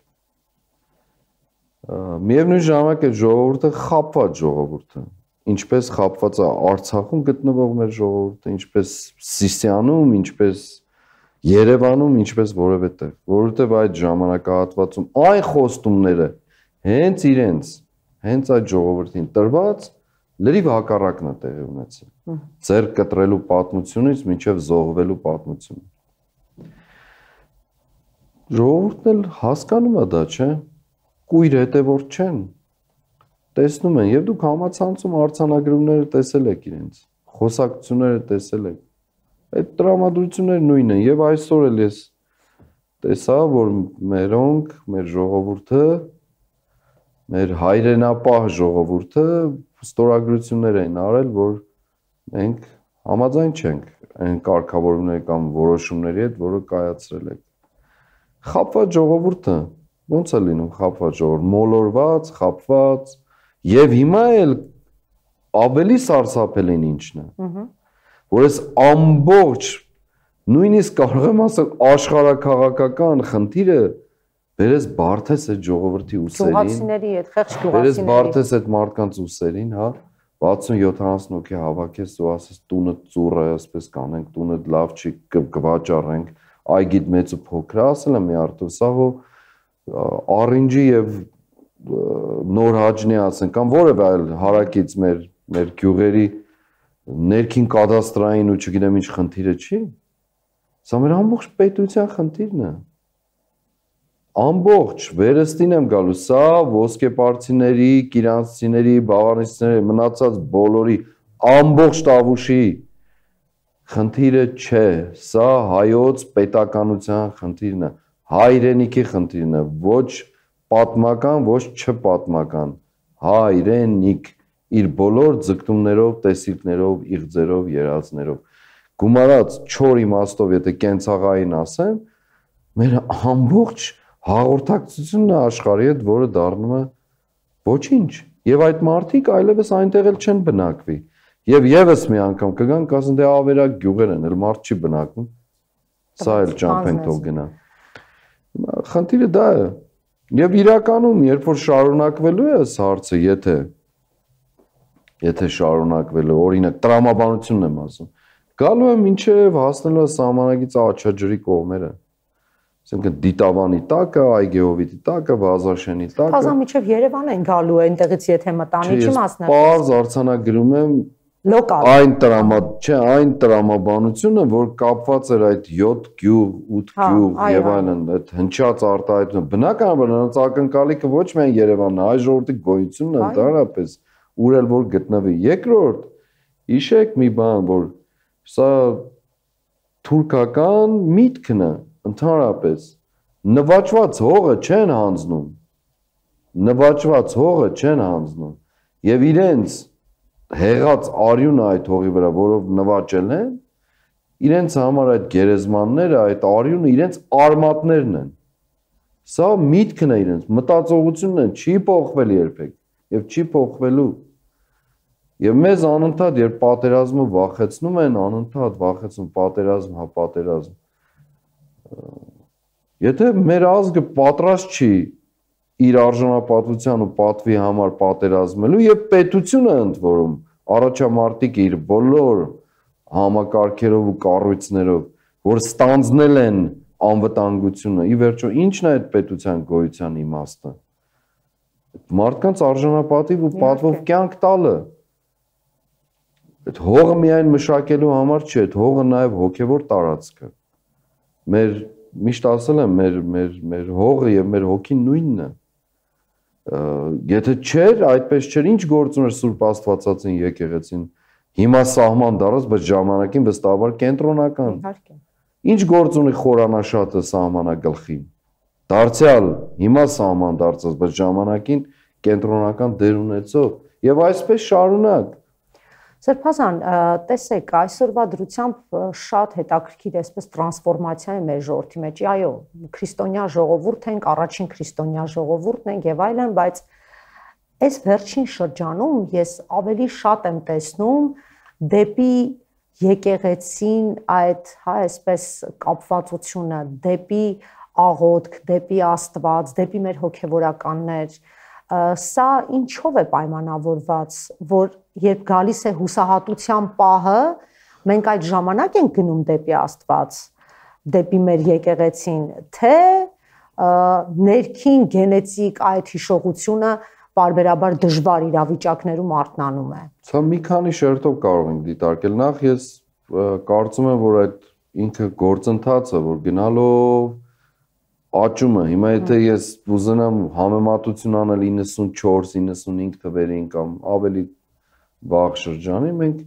Միևնույն ժամանակ այդ ժողովուրդը խաբված ժողովուրդ է։ Ինչպես խաբված է Արցախում գտնվող մեր ժողովուրդը, ինչպես Սիսիանում, ինչպես Երևանում, ինչպես որևէ տեղ, որովհետև այդ ժամանակահատվածում այն խոստումները հենց այդ ժողովրդին տրված լրիվ հակառակն է տեղի ունեցել։ Ձեր կտրելու պատմությունից մինչև զոհվելու պատմություն։ Ժողովուրդն էլ հասկանում է դա, չէ՞։ Կույր հետևորդ չեն։ Տեսնում են, եւ դուք համացանցում արձանագրումները տեսել եք իրենց, խոսակցությունները տեսել եք։ Այդ տրամադրությունները նույնն են եւ այսօր էլ ես տեսա, որ մերոնք, մեր ժողովուրդը, մեր հայրենապահ ժողովուրդը ստորագրություններ են արել, որ մենք համաձայն չենք այն կարգավորումների կամ որոշումների հետ, որը կայացրել եք։ Խաբված ժողովուրդը ո՞նց է լինում խաբված ժողովուրդ, մոլորված, խաբված եւ հիմա էլ ավելի սարսափելին ինչն է։ Որ այս ամբողջ նույնիսկ կարող եմ ասել աշխարհաքաղաքական խնդիրը բերես բարթես այդ ժողովրդի ուսերին, գյուղացիների հետ, խեղճ գյուղացիների, բերես բարթես այդ մարդկանց ուսերին, հա, 60-70 հոգի հավաքես ու ասես տունը ծուռ է, ասպես կանենք, տունը լավ չի, կվաճառենք, այգիդ մեծ ու փոքր է, ասել եմ մի արդյոք, սա հո առինջի եւ նոր հաջնի ասեն, կամ որևէ այլ հարակից մեր գյուղերի ներքին կադաստրային ու չգիտեմ ինչ խնդիրը չի։ Սա մեր ամբողջ պետության խնդիրն է։ Ամբողջ վերստին եմ գալու, սա ոսկեպարծիների, կիրանցիների, բավարարիչների, մնացած բոլորի ամբողջ Տավուշի խնդիրը չէ, սա հայոց պետականության խնդիրն է, հայրենիքի խնդիրն է, ոչ պատմական, ոչ չպատմական, հայրենիք իր բոլոր ձգտումներով, տեսիլքներով, իղձերով, երազներով։ Գումարած չոր իմաստով, եթե կենցաղային ասեմ, մեր ամբողջ հաղորդակցությունն է աշխարհի հետ, որը դառնում է ոչինչ, եւ այդ մարդիկ այլևս այնտեղ էլ չեն բնակվի։ Եվ եւս մի անգամ կգան, կասեն դե ավերակ գյուղեր են, էլ մարդ չի բնակվում։ Սա էլ ճամփեն թող գնա։ Խնդիրը դա է։ Եվ իրականում, երբ որ շարունակվելու է այս հարցը, եթե շարունակվելու, օրինակ տրամաբանությունն եմ ասում, գալու է մինչև հասնելու է սահմանագից Աչաջրի կողմերը։ Այսինքն Դիտավանի տակը, Այգեհովիտի տակը, Վազաշենի տակը։ Փազան միջև Երևան են գալու այնտեղից եթե մտանի չի մասնակցում։ Պարզ արձանագրում եմ լոկալ։ Այն տրամաբանությունը, որ կապված էր այդ 7 գյուղ, 8 գյուղ եւ այլն, այդ հնչած արտահայտությունը։ Բնականաբար նրանց ակնկալիքը ոչ միայն Երևանն է, այլ ժողովրդի գոյությունն է ընդհանրապես, ուր էլ որ գտնվի։ Երկրորդ, հիշեք մի բան, որ սա թուրքական միտքն է ընդհանրապես նվաճված հողը չեն հանձնում եւ իրենց հեղած արյունը այդ հողի վրա, որով նվաճել են, իրենց համար այդ գերեզմանները, այդ արյունը իրենց արմատներն են։ Սա միտքն է իրենց, մտածողությունն է, չի փոխվել երբեք եւ չի փոխվելու։ Եվ մեզ անընդհատ երբ պատերազմը վախեցնում են, անընդհատ վախեցնում պատերազմ, հա պատերազմ։ Եթե մեր ազգը պատրաստ չի իր արժանապատվության ու պատվի համար պատերազմելու եւ պետությունը ընդ որում առաջամարտիկ իր բոլոր համակարգերով ու կառույցներով, որ ստանձնել են անվտանգությունը, ի վերջո ինչն է այդ պետության գոյության իմաստը։ Մարդկանց արժանապատիվ ու պատվով կյանք տալը։ Այդ հողը միայն մշակելու համար չէ, այդ հողը նաեւ հոգեվոր տարածք է։ Մեր միշտ ասել եմ, մեր հողը եւ մեր հոգին նույնն է։ Եթե չէր, այդպես չէր, ինչ գործ ուներ Սուրբ Աստվածածին եկեղեցին։ Հիմա սահման դարած, բայց ժամանակին վստահաբար կենտրոնական։ Իհարկե։ Ինչ գործ ունի խորանաշատը սահմանագլխին։ Դարձյալ հիմա սահման դարձած, բայց ժամանակին կենտրոնական դեր ունեցող եւ այսպես շարունակ։ Սրբազան, տեսեք, այսօրվա դրությամբ շատ հետաքրքիր այսպես տրանսֆորմացիա է մեր ժողովրդի մեջ։ Այո, քրիստոնյա ժողովուրդ ենք, առաջին քրիստոնյա ժողովուրդն ենք եւ այլն, բայց այս վերջին շրջանում ես ավելի շատ եմ տեսնում դեպի եկեղեցին այդ, հա, այսպես կապվածությունը, դեպի աղոթք, դեպի Աստված, դեպի մեր հոգեվորականներ, սա ինչով է պայմանավորված, որ երբ գալիս է հուսահատության պահը, մենք այդ ժամանակ ենք գնում դեպի Աստված, դեպի մեր եկեղեցին, թե ներքին գենետիկ այդ հիշողությունը բարբերաբար դժվար իրավիճակներում արթնանում է։ Սա մի քանի շերտով կարող ենք դիտարկել։ Նախ ես կարծում եմ, որ այդ ինքը գործընթացը, որ գնալով աճում է։ Հիմա եթե ես ուզենամ համեմատություն անել 94-95 թվերին կամ ավելի վաղ շրջանի, մենք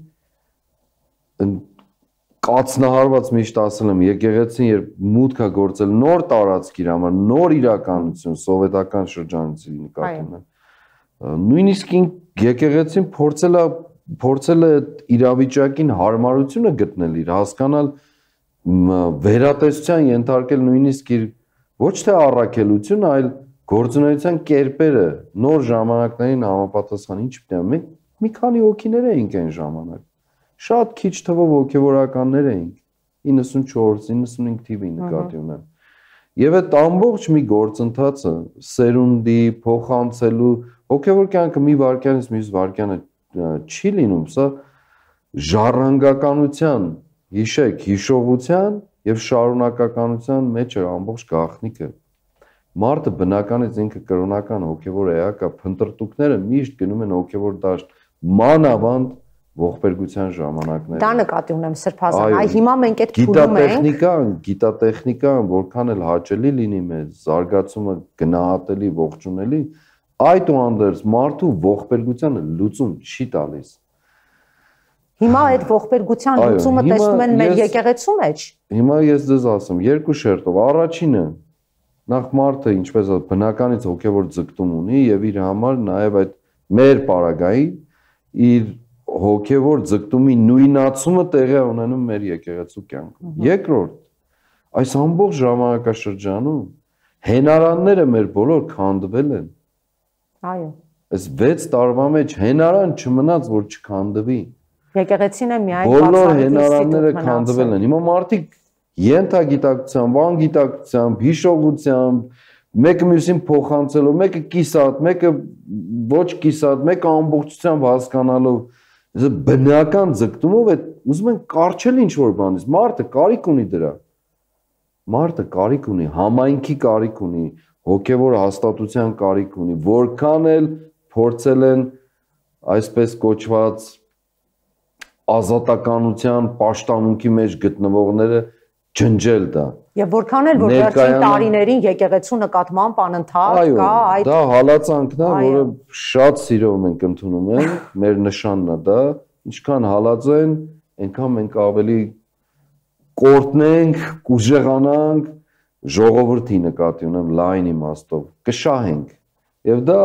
կացնահարված միշտ ասել եմ, եկեղեցին երբ մուտք է գործել նոր տարածքի համար, նոր իրականություն, սովետական շրջանից նկատի ունեմ։ Նույնիսկ եկեղեցին փորձել է իրավիճակին հարմարությունը գտնել, իր հասկանալ, վերատեսության ենթարկել նույնիսկ իր ոչ թե առաքելություն, այլ գործունեության կերպերը, նոր ժամանակներին համապատասխան ինչ պետք է։ Մենք մի քանի հոգիներ էինք այն ժամանակ։ Շատ քիչ թվով հոգևորականներ էինք, 94-95 թիվի նկատի ունեմ։ Եվ այդ ամբողջ մի գործընթացը սերունդի, փոխանցելու, հոգևոր կյանքը մի վայրկյանից մյուս վայրկյանը չի լինում, սա ժառանգականության, հիշեք, հիշողության եւ շարունակականության մեջ է ամբողջ գաղտնիքը։ Մարդը բնականից ինքը կրոնական հոգեվոր էակ է, փնտրտուքները միշտ գնում են հոգեվոր դաշտ, մանավանդ ողբերգության ժամանակները։ Դա նկատի ունեմ Սրբազան, այ հիմա մենք այդ փուլում ենք։ Գիտատեխնիկան որքան էլ հաճելի լինի մեզ, զարգացումը գնահատելի, ողջունելի, այդուհանդերձ մարդու ողբերգությանը լուծում չի տալիս։ Հիմա այդ ողբերգության լուծումը տեսնում են մեր եկեղեցու մեջ։ Հիմա ես ձեզ ասեմ, երկու շերտով, առաջինը նախ մարդը ինչպես բնականից հոգևոր ձգտում ունի եւ իր համար նաեւ այդ մեր պարագային իր հոգևոր ձգտումի նույնացումը տեղի ունենում մեր եկեղեցու կյանքում։ Երկրորդ, այս ամբողջ ժամանակաշրջանում հենարանները մեր բոլոր քանդվել են։ Այո։ Այս 6 տարվա մեջ հենարան չմնաց, որ չքանդվի։ Եկեղեցին է միայն բոլոր հենարանները քանդվել են։ Հիմա մարդիկ ենթագիտակցությամբ, անգիտակցությամբ, հիշողությամբ, մեկը մյուսին փոխանցելով, մեկը կիսատ, մեկը ոչ կիսատ, մեկը ամբողջությամբ հասկանալով, բնական ձգտումով է ուզում են կարճել ինչ-որ բանից։ Մարդը կարիք ունի դրա։ Մարդը կարիք ունի, համայնքի կարիք ունի, հոգևոր հաստատության կարիք ունի, որքան էլ փորձել են այսպես կոչված ազատականության պաշտամունքի մեջ գտնվողները ջնջել դա։ Եվ որքան էլ որ վերջին տարիներին եկեղեցու նկատմամբ անընդհատ կա այդ դա հալածանքն է, որը շատ սիրով մենք ընդունում ենք, մեր նշանն է դա, ինչքան հալածեն, այնքան մենք ավելի կորտնենք, կուժեղանանք, ժողովրդի նկատի ունեմ լայն իմաստով, կշահենք։ Եվ դա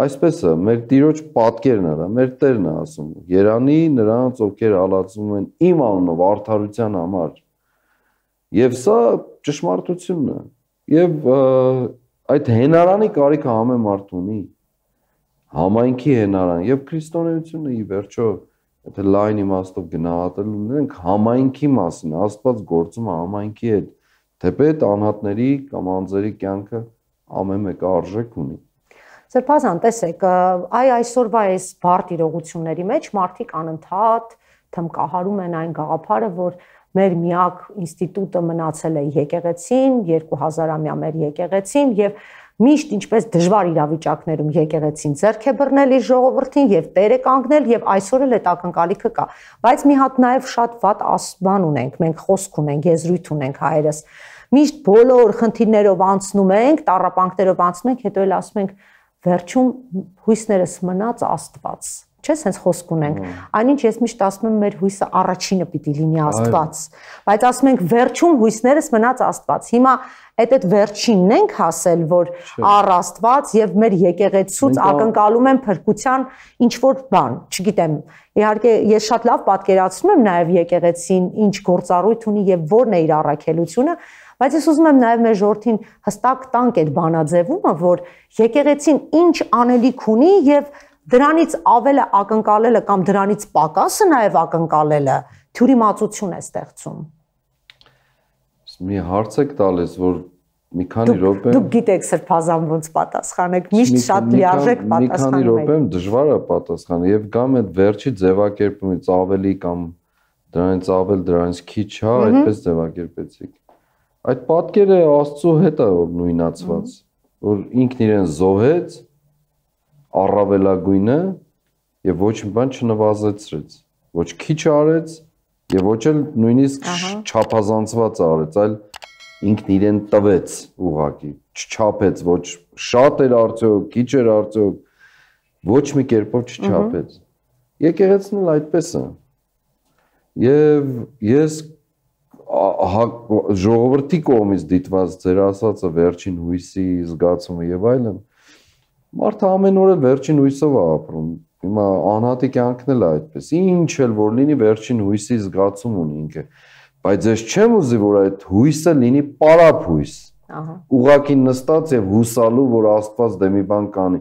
այսպես է, մեր Տիրոջ պատկերն է, մեր Տերն է ասում, երանի նրանց, ովքեր հալածում են իմ անունով արդարության համար։ Եվ սա ճշմարտությունն է։ Եվ այդ հենարանի կարիքը ամեն մարդ ունի, համայնքի հենարան եւ քրիստոնեությունը ի վերջո, եթե լայն իմաստով գնահատել ունենք համայնքի մասին, Աստված գործում է համայնքի հետ, թեպետ անհատների կամ անձերի կյանքը ամեն մեկը արժեք ունի։ Սրբազան, տեսեք, այսօրվա այս բարդ իրողությունների մեջ մարդիկ անընդհատ թմկահարում են այն գաղափարը, որ մեր միակ ինստիտուտը մնացել է եկեղեցին, 2000-ամյա մեր եկեղեցին եւ միշտ ինչպես դժվար իրավիճակներում եկեղեցին ձեռք է բռնել իր ժողովրդին եւ տեր է կանգնել եւ այսօր էլ այդ ակնկալիքը կա, բայց մի հատ նաեւ շատ վատ ասման ունենք, մենք խոսք ունենք, եզրույթ ունենք հայերս, միշտ բոլոր խնդիրներով անցնում ենք, տառապանքներով անցնում ենք, հետո էլ ասում ենք վերջում հույսներս մնաց Աստված, չէ՞, sense խոսք ունենք, այնինչ ես միշտ ասում եմ մեր հույսը առաջինը պիտի լինի Աստված, բայց ասում ենք վերջում հույսներս մնաց Աստված, հիմա այդ վերջինն ենք հասել, որ առ Աստված եւ մեր եկեղեցուց ակնկալում են փրկության ինչ-որ բան, չգիտեմ, իհարկե ես շատ լավ պատկերացնում եմ նաեւ եկեղեցին ինչ գործառույթ ունի եւ որն է իր առաքելությունը, բայց ես ուզում եմ նաեւ մեր ժողովրդին հստակ տանք այդ բանաձևումը, որ եկեղեցին ինչ անելիք ունի եւ դրանից ավելը ակնկալելը կամ դրանից պակասը նաեւ ակնկալելը թյուրիմացություն է ստեղծում։ Մի հարց եք տալիս, որ մի քանի րոպե Դուք գիտեք Սրբազան ոնց պատասխանեք, միշտ շատ լիարժեք պատասխանում եք։ Մի քանի րոպե դժվար է պատասխանել եւ կամ այդ վերջի ձևակերպումից ավելի կամ դրանից ավել, դրանից քիչ, հա, այդպես ձևակերպեցիք։ Այդ պատկերը Աստծո հետ է որ նույնացված, որ ինքն իրեն զոհեց առավելագույնը եւ ոչ մի բան չնվազեցրեց, ոչ քիչ արեց եւ ոչ էլ նույնիսկ չափազանցված արեց, այլ ինքն իրեն տվեց ուղակի, չչափեց, ոչ շատ էր արդյոք, քիչ էր արդյոք, ոչ մի կերպով չչափեց։ Եկեղեցին էլ այդպես է։ Եվ ես ժողովրդի կողմից դիտված ձեր ասածը վերջին հույսի զգացումը եւ այլն, մարդը ամեն օր վերջին հույսով է ապրում։ Հիմա անհատի կյանքն էլ է այդպես։ Ինչ էլ որ լինի վերջին հույսի զգացում ունի ինքը, բայց ես չեմ ուզի որ այդ հույսը լինի պարապ հույս։ Ուղղակի նստած եւ հուսալու որ Աստված դե մի բան կանի։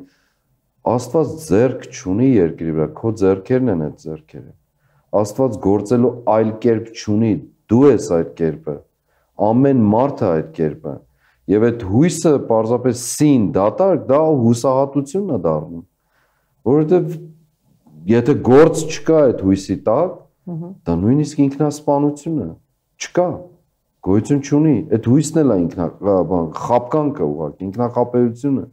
Աստված ձեռք չունի երկրի վրա, քո ձեռքերն են այդ ձեռքերը։ Աստված գործելու այլ կերպ չունի, դու ես այդ կերպը, ամեն մարդը այդ կերպը, եւ այդ հույսը պարզապես սին, դատարկ, դա հուսահատությունն է դառնում, որովհետեւ եթե գործ չկա այդ հույսի տակ, դա նույնիսկ ինքնասպանություն է, չկա, գոյություն չունի, այդ հույսն էլ է խապկանքը ուղղակի, ինքնախապեյությունը։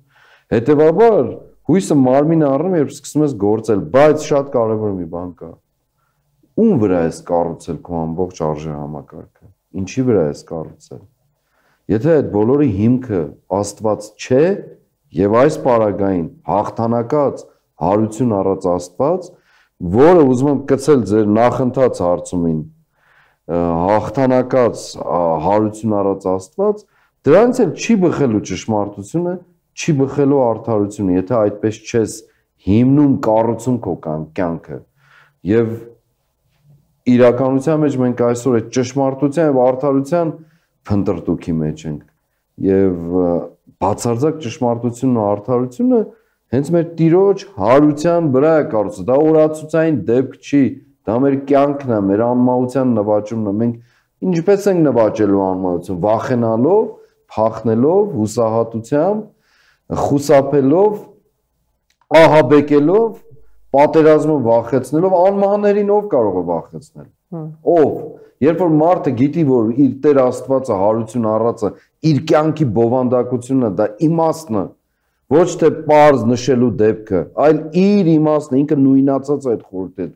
Հետևաբար հույսը մարմին առնում, երբ սկսում ես գործել, բայց շատ կարևոր մի բան կա։ Ում վրա ես կառուցել քո ամբողջ արժեհամակարգը, ինչի վրա ես կառուցել։ Եթե այդ բոլորի հիմքը Աստված չէ եւ այս պարագային հաղթանակած հարություն առած Աստված, որը ուզում եմ կցել ձեր նախընթաց հարցումին, հաղթանակած հարություն առած Աստված, դրանից էլ չի բխելու ճշմարտությունը, չի բխելու արդարությունը, եթե այդպես չես հիմնում կառուցում քո կյանքը։ Եվ իրականության մեջ մենք այսօր այդ ճշմարտության եւ արդարության փնտրտուքի մեջ ենք եւ բացարձակ ճշմարտությունն ու արդարությունը հենց մեր Տիրոջ հարության վրա է կառուցված, դա օրացուցային դեպք չի, դա մեր կյանքն է, մեր անմահության նվաճումն է, մենք ինչպես ենք նվաճելու անմահություն, վախենալով, փախնելով, հուսահատությամբ, խուսափելով, ահաբեկելով, պատերազմը վախեցնելով, անմահներին ով կարող է վախեցնել։ Ով։ Երբ որ մարդը գիտի, որ իր Տեր Աստվածը հարություն առածը, իր կյանքի բովանդակությունն է, դա իմաստն է, ոչ թե պարզ նշելու դեպքը, այլ իր իմաստն է, ինքը նույնացած այդ խորհուրդը։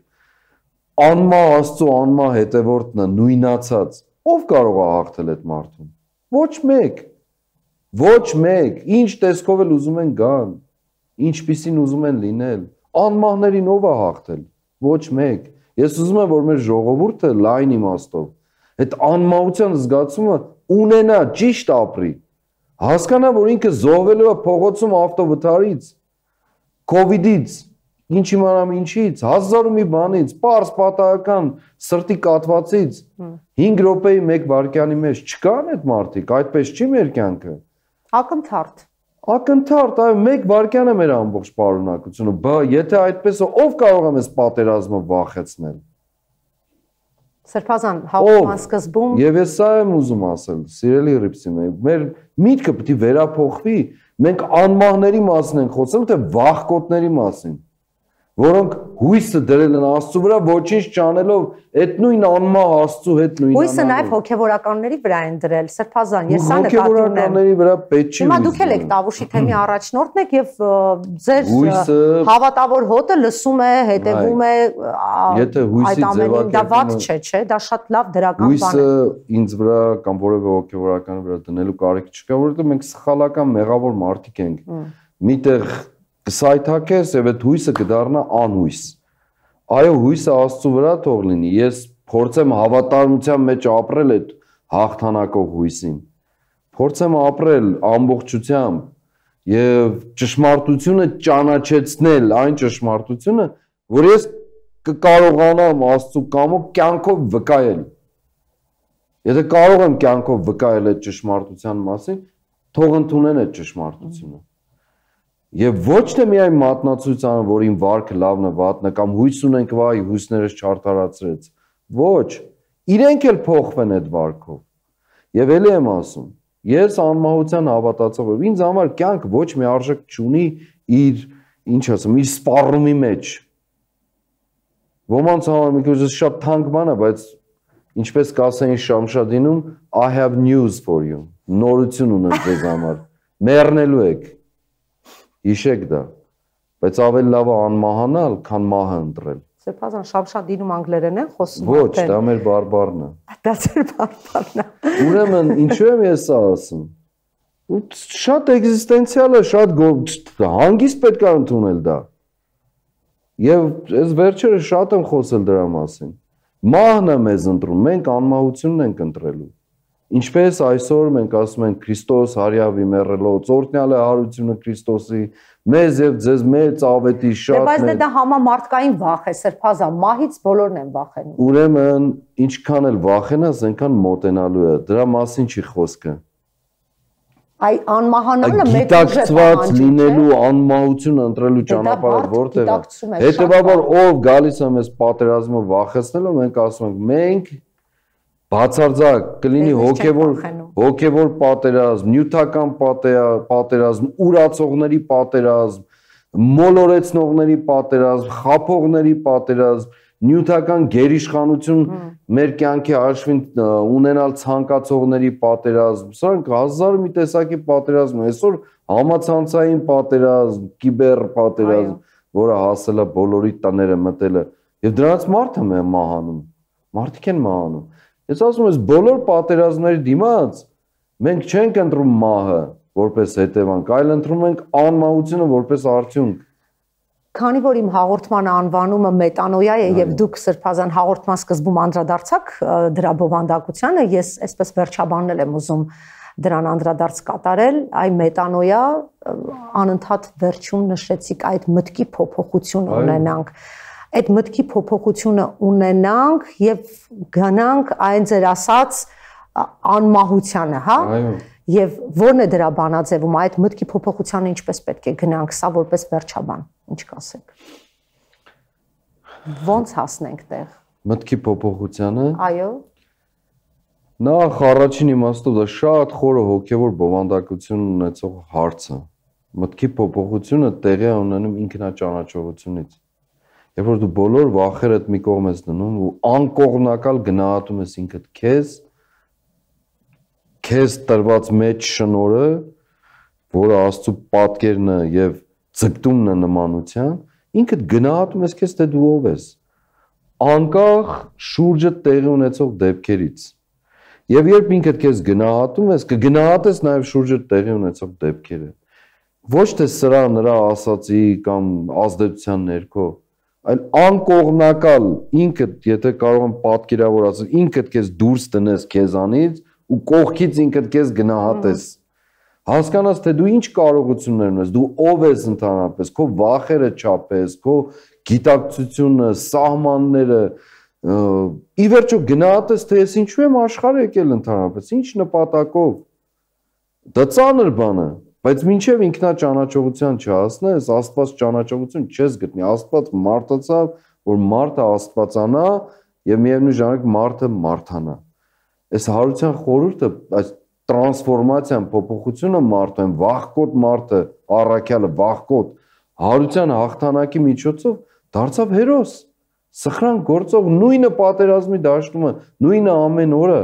Անմահ Աստծո անմահ հետևորդն է, նույնացած։ Ով կարող է հաղթել այդ մարդուն։ Ոչ մեկ։ Ոչ մեկ։ Ինչ տեսքով էլ ուզում են գան, ինչպիսին ուզում են լինել։ Անմահներին ով է հաղթել։ Ոչ մեկ։ Ես ուզում եմ, որ մեր ժողովուրդը լայն իմաստով այդ անմահության զգացումը ունենա, ճիշտ ապրի։ Հասկանա, որ ինքը զոհվելու է փողոցում ավտովթարից, COVID-ից, ինչ իմանամ ինչից, 1000 մի բանից, պարզ պատահական սրտի կաթվածից, 5 րոպեի 1 վայրկյանի մեջ չկան այդ մարդիկ, այդպես չի մեր կյանքը։ Ակնթարթ։ Ակնթարթ, այո, 1 վայրկյան է մեր ամբողջ պարունակությունը, եթե այդպես է, ով կարող է մեզ պատերազմը վախեցնել։ Սրբազան, հաղորդման սկզբում Եվ ես սա եմ ուզում ասել, սիրելի Ռիփսիմ, մեր միտքը պետք է վերափոխվի, մենք անմահների մասին ենք խոսում, թե վախկոտների մասին, որոնք հույսը դրել են Աստծո վրա, ոչինչ չանելով, այդ նույն անմահ Աստծո հետ նույնանալով։ Հույսը նաև հոգևորականների վրա են դրել, Սրբազան, ես սա նկատի ունեմ։ Հոգևորականների վրա պետք չի։ Հիմա դուք եք Տավուշի թեմի առաջնորդն եք եւ ձեր հավատավոր հոտը լսում է, հետևում է այդ ամենին, դա վատ չէ, դա շատ լավ դրական բան է։ Հույսը ինձ վրա կամ որևէ հոգևորականի վրա դնելու կարիք չկա, որովհետեւ մենք սխալական մեղավոր մարդիկ ենք։ Միտեղ կսայթակես եւ այդ հույսը կդառնա անհույս։ Այո, հույսը Աստծո վրա թող լինի։ Ես փորձեմ հավատարմության մեջ ապրել այդ հաղթանակով հույսին։ Փորձեմ ապրել ամբողջությամբ եւ ճշմարտությունը ճանաչեցնել, այն ճշմարտությունը, որ ես կկարողանամ Աստծո կամոք կյանքով վկայել։ Եթե կարող եմ կյանքով վկայել այդ ճշմարտության մասին, թող ընդունեն այդ ճշմարտությունը։ Եվ ոչ թե միայն մատնացույցանը, որ իմ վարքը լավն է, վատն է, կամ հույս ունենք, վայ, հույսներս չարդարացրեց։ Ոչ, իրենք էլ փոխվեն այդ վարքով։ Եվ ելի եմ ասում, ես անմահության հավատացող եմ, ինձ համար կյանքը ոչ մի արժեք չունի իր, ինչ ասեմ, իր սպառումի մեջ։ Ոմանց համար մի քիչ շատ թանկ բան է, բայց ինչպես կասեին Շամշադինում, I have news for you։ Նորություն ունեմ ձեզ համար։ Մեռնելու եք։ Հիշեք դա, բայց ավելի լավ է անմահանալ, քան մահը ընտրել։ Սրբազան, Շամշադինում անգլերեն են խոսում։ Ոչ, դա մեր բարբառն է։ Դա ձեր բարբառն է։ Ուրեմն, ինչու եմ ես սա ասում։ Շատ էգզիստենցիալ է, շատ հանգիստ պետք է ընդունել դա։ Եվ այս վերջերս շատ եմ խոսել դրա մասին։ Մահն է մեզ ընտրում, մենք անմահությունն ենք ընտրելու։ Ինչպես այսօր մենք ասում ենք Քրիստոս հարյավի մեռելոց, օրհնյալ է հարությունը Քրիստոսի, մեզ եւ ձեզ մեծ ավետի շատ։ Բայց դա համամարտկային վախ է, Սրբազան, մահից բոլորն են վախենում։ Ուրեմն, ինչքան էլ վախենաս, այնքան մոտենալու է։ Դրա մասին չի խոսքը։ Այ անմահանալը մեծ գիտակցված լինելու անմահություն ընտրելու ճանապարհը որտեղ է։ Հետևաբար ով գալիս է մեզ պատերազմը վախեցնելու, մենք ասում ենք մենք բացարձակ կլինի հոգևոր պատերազմ, նյութական պատերազմ, ուրացողների պատերազմ, մոլորեցնողների պատերազմ, խափողների պատերազմ, նյութական գերիշխանություն մեր կյանքի հաշվին ունենալ ցանկացողների պատերազմ, սրանք հազար մի տեսակի պատերազմ, այսօր համացանցային պատերազմ, կիբեր պատերազմ, որը հասել է բոլորի տները մտել է, եւ դրանց մարդը մահանում, մարդիկ են մահանում։ Ես ասում եմ, բոլոր պատերազմների դիմաց մենք չենք ընտրում մահը որպես հետևանք, այլ ընտրում ենք անմահությունը որպես արդյունք։ Քանի որ իմ հաղորդման անվանումը մետանոյա է եւ դուք Սրբազան հաղորդման սկզբում անդրադարձաք դրա բովանդակությանը, ես այսպես վերջաբաննել եմ ուզում դրան անդրադարձ կատարել, այ մետանոյա անընդհատ վերջում նշեցիք այդ մտքի փոփոխություն ունենանք։ Այդ մտքի փոփոխությունը ունենանք եւ գնանք այն ձեր ասած անմահությանը, հա։ Եվ ո՞րն է դրա բանաձևումը, այդ մտքի փոփոխությանը ինչպես պետք է գնանք, սա որպես վերջաբան, ինչ կասեք։ Ոնց հասնենք տեղ։ Մտքի փոփոխությանը։ Այո։ Նախ առաջին իմաստով դա շատ խորը հոգևոր բովանդակություն ունեցող հարց է։ Մտքի փոփոխությունը տեղի է ունենում ինքնաճանաչողությունից։ Երբ որ դու բոլոր վախերդ մի կողմ ես դնում ու անկողմնակալ գնահատում ես ինքդ քեզ տրված մեջ շնորհը, որը Աստծո պատկերն է եւ ձգտումն է նմանության, ինքդ գնահատում ես քեզ, թե դու ով ես, անկախ շուրջը տեղի ունեցող դեպքերից։ Եվ երբ ինքդ քեզ գնահատում ես, կգնահատես նաեւ շուրջը տեղի ունեցող դեպքերը։ Ոչ թե սրա նրա ասացի կամ ազդեցության ներքո, այլ անկողմնակալ ինքդ, եթե կարող եմ պատկերավորել, ինքդ քեզ դուրս տնես քեզանից ու կողքից ինքդ քեզ գնահատես, հասկանաս, թե դու ինչ կարողություններ ունես, դու ով ես ընդհանրապես, քո վախերը չափես, քո գիտակցությունը, սահմանները, ի վերջո գնահատես, թե ես ինչու եմ աշխարհ եկել ընդհանրապես, ինչ նպատակով։ Դա ծանր բան է, բայց մինչև ինքնաճանաչողության չհասնես, Աստված ճանաչողություն չես գտնի, Աստված մարդացավ, որ մարդը աստվածանա եւ միևնույն ժամանակ մարդը մարդանա։ Այս հարության խորհուրդը, այս տրանսֆորմացիան, փոփոխությունը մարդու, վախկոտ մարդը, առաքյալը, վախկոտ հարության հաղթանակի միջոցով դարձավ հերոս, սխրան գործող, նույնը պատերազմի դաշտումը, նույնը ամեն օրը,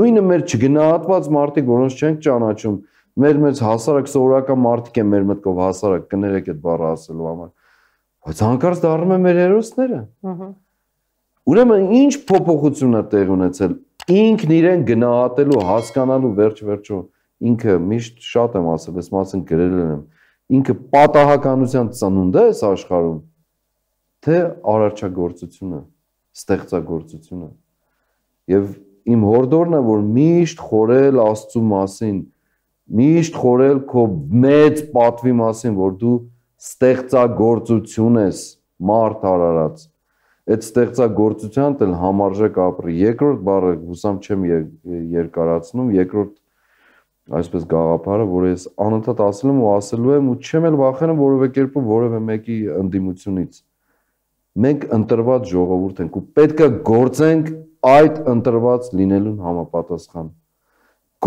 նույնը մեր չգնահատված մարդիկ, որոնց չենք ճանաչում, մեր մեծ հասարակ սովորական մարդիկ են մեր մտքով հասարակ, կներեք այդ բառը ասելու համար, բայց հանկարծ դառնում են մեր հերոսները։ Ուրեմն ինչ փոփոխություն է տեղի ունեցել, ինքն իրեն գնահատելու, հասկանալու վերջ-վերջո, ինքը միշտ շատ եմ ասել, այս մասին գրել եմ, ինքը պատահականության ծնունդ է այս աշխարհում, թե արարչագործությունը, ստեղծագործությունը։ Եվ իմ հորդորն է, որ միշտ խորել Աստծու մասին, միշտ խորել քո մեծ պատվի մասին, որ դու ստեղծագործություն ես, մարդ արարած։ Այդ ստեղծագործության էլ համարժեք ապրի։ Երկրորդ բառը հուսամ չեմ երկարացնում, երկրորդ այսպես գաղափարը, որ ես անընդհատ ասել եմ ու ասելու եմ ու չեմ էլ վախենում որևէ կերպով որևէ մեկի ընդդիմությունից։ Մենք ընտրված ժողովուրդ ենք ու պետք է գործենք այդ ընտրված լինելուն համապատասխան։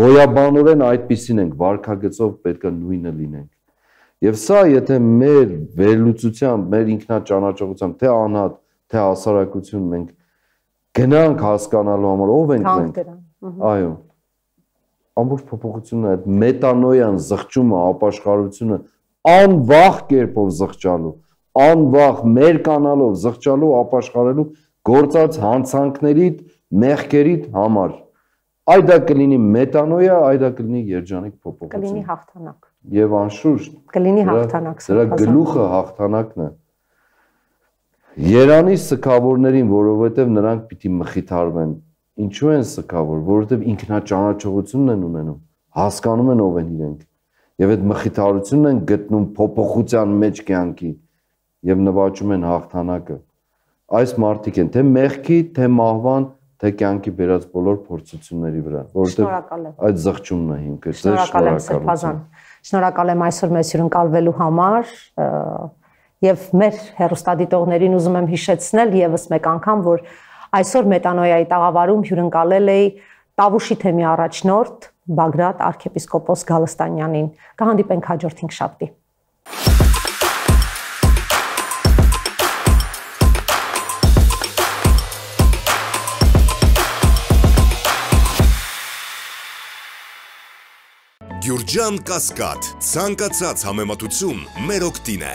Գոյաբանորեն այդպիսին ենք, վարքագծով պետք է նույնը լինենք։ Եվ սա, եթե մեր վերլուծությամբ, մեր ինքնաճանաչողությամբ, թե անհատ, թե հասարակություն մենք գնանք հասկանալու համար, ով ենք մենք։ Այո։ Ամբողջ փոփոխությունը, այդ մետանոյան զղջումը, ապաշխարությունը անվախ կերպով զղջալու, անվախ մերկանալով զղջալու, ապաշխարելու գործած հանցանքներիդ, մեղքերիդ համար։ Այդ դա կլինի մետանոյա, այդ դա կլինի երջանիկ փոփոխություն։ Կլինի հաղթանակ։ Եվ անշուշտ կլինի հաղթանակ։ Դրա գլուխը հաղթանակն է։ Երանի սքավորներին, որովհետև նրանք պիտի մխիթարվեն։ Ինչու են սքավոր, որովհետև ինքնաճանաչողությունն են ունենում, հասկանում են ով են իրենք, եւ այդ մխիթարությունն են գտնում փոփոխության մեջ կյանքի եւ նվաճում են հաղթանակը։ Այս մարդիկ են թե մեղքի, թե մահվան, թե կյանքի բերած բոլոր փորձությունների վրա, որովհետև այդ զղջումն է հիմքը։ Շնորհակալ եմ Սրբազան։ Շնորհակալ եմ այսօր մեզ հյուրընկալվելու համար եւ մեր հեռուստադիտողներին ուզում եմ հիշեցնել եւս մեկ անգամ, որ այսօր Մետանոյայի տաղավարում հյուրընկալել էի Տավուշի թեմի առաջնորդ Բագրատ arczepiskopos Գալստանյանին։ Կհանդիպենք հաջորդ 5 շաբթի։ Ջան Կասկադ, ցանկացած համեմատություն մեր օգտին է։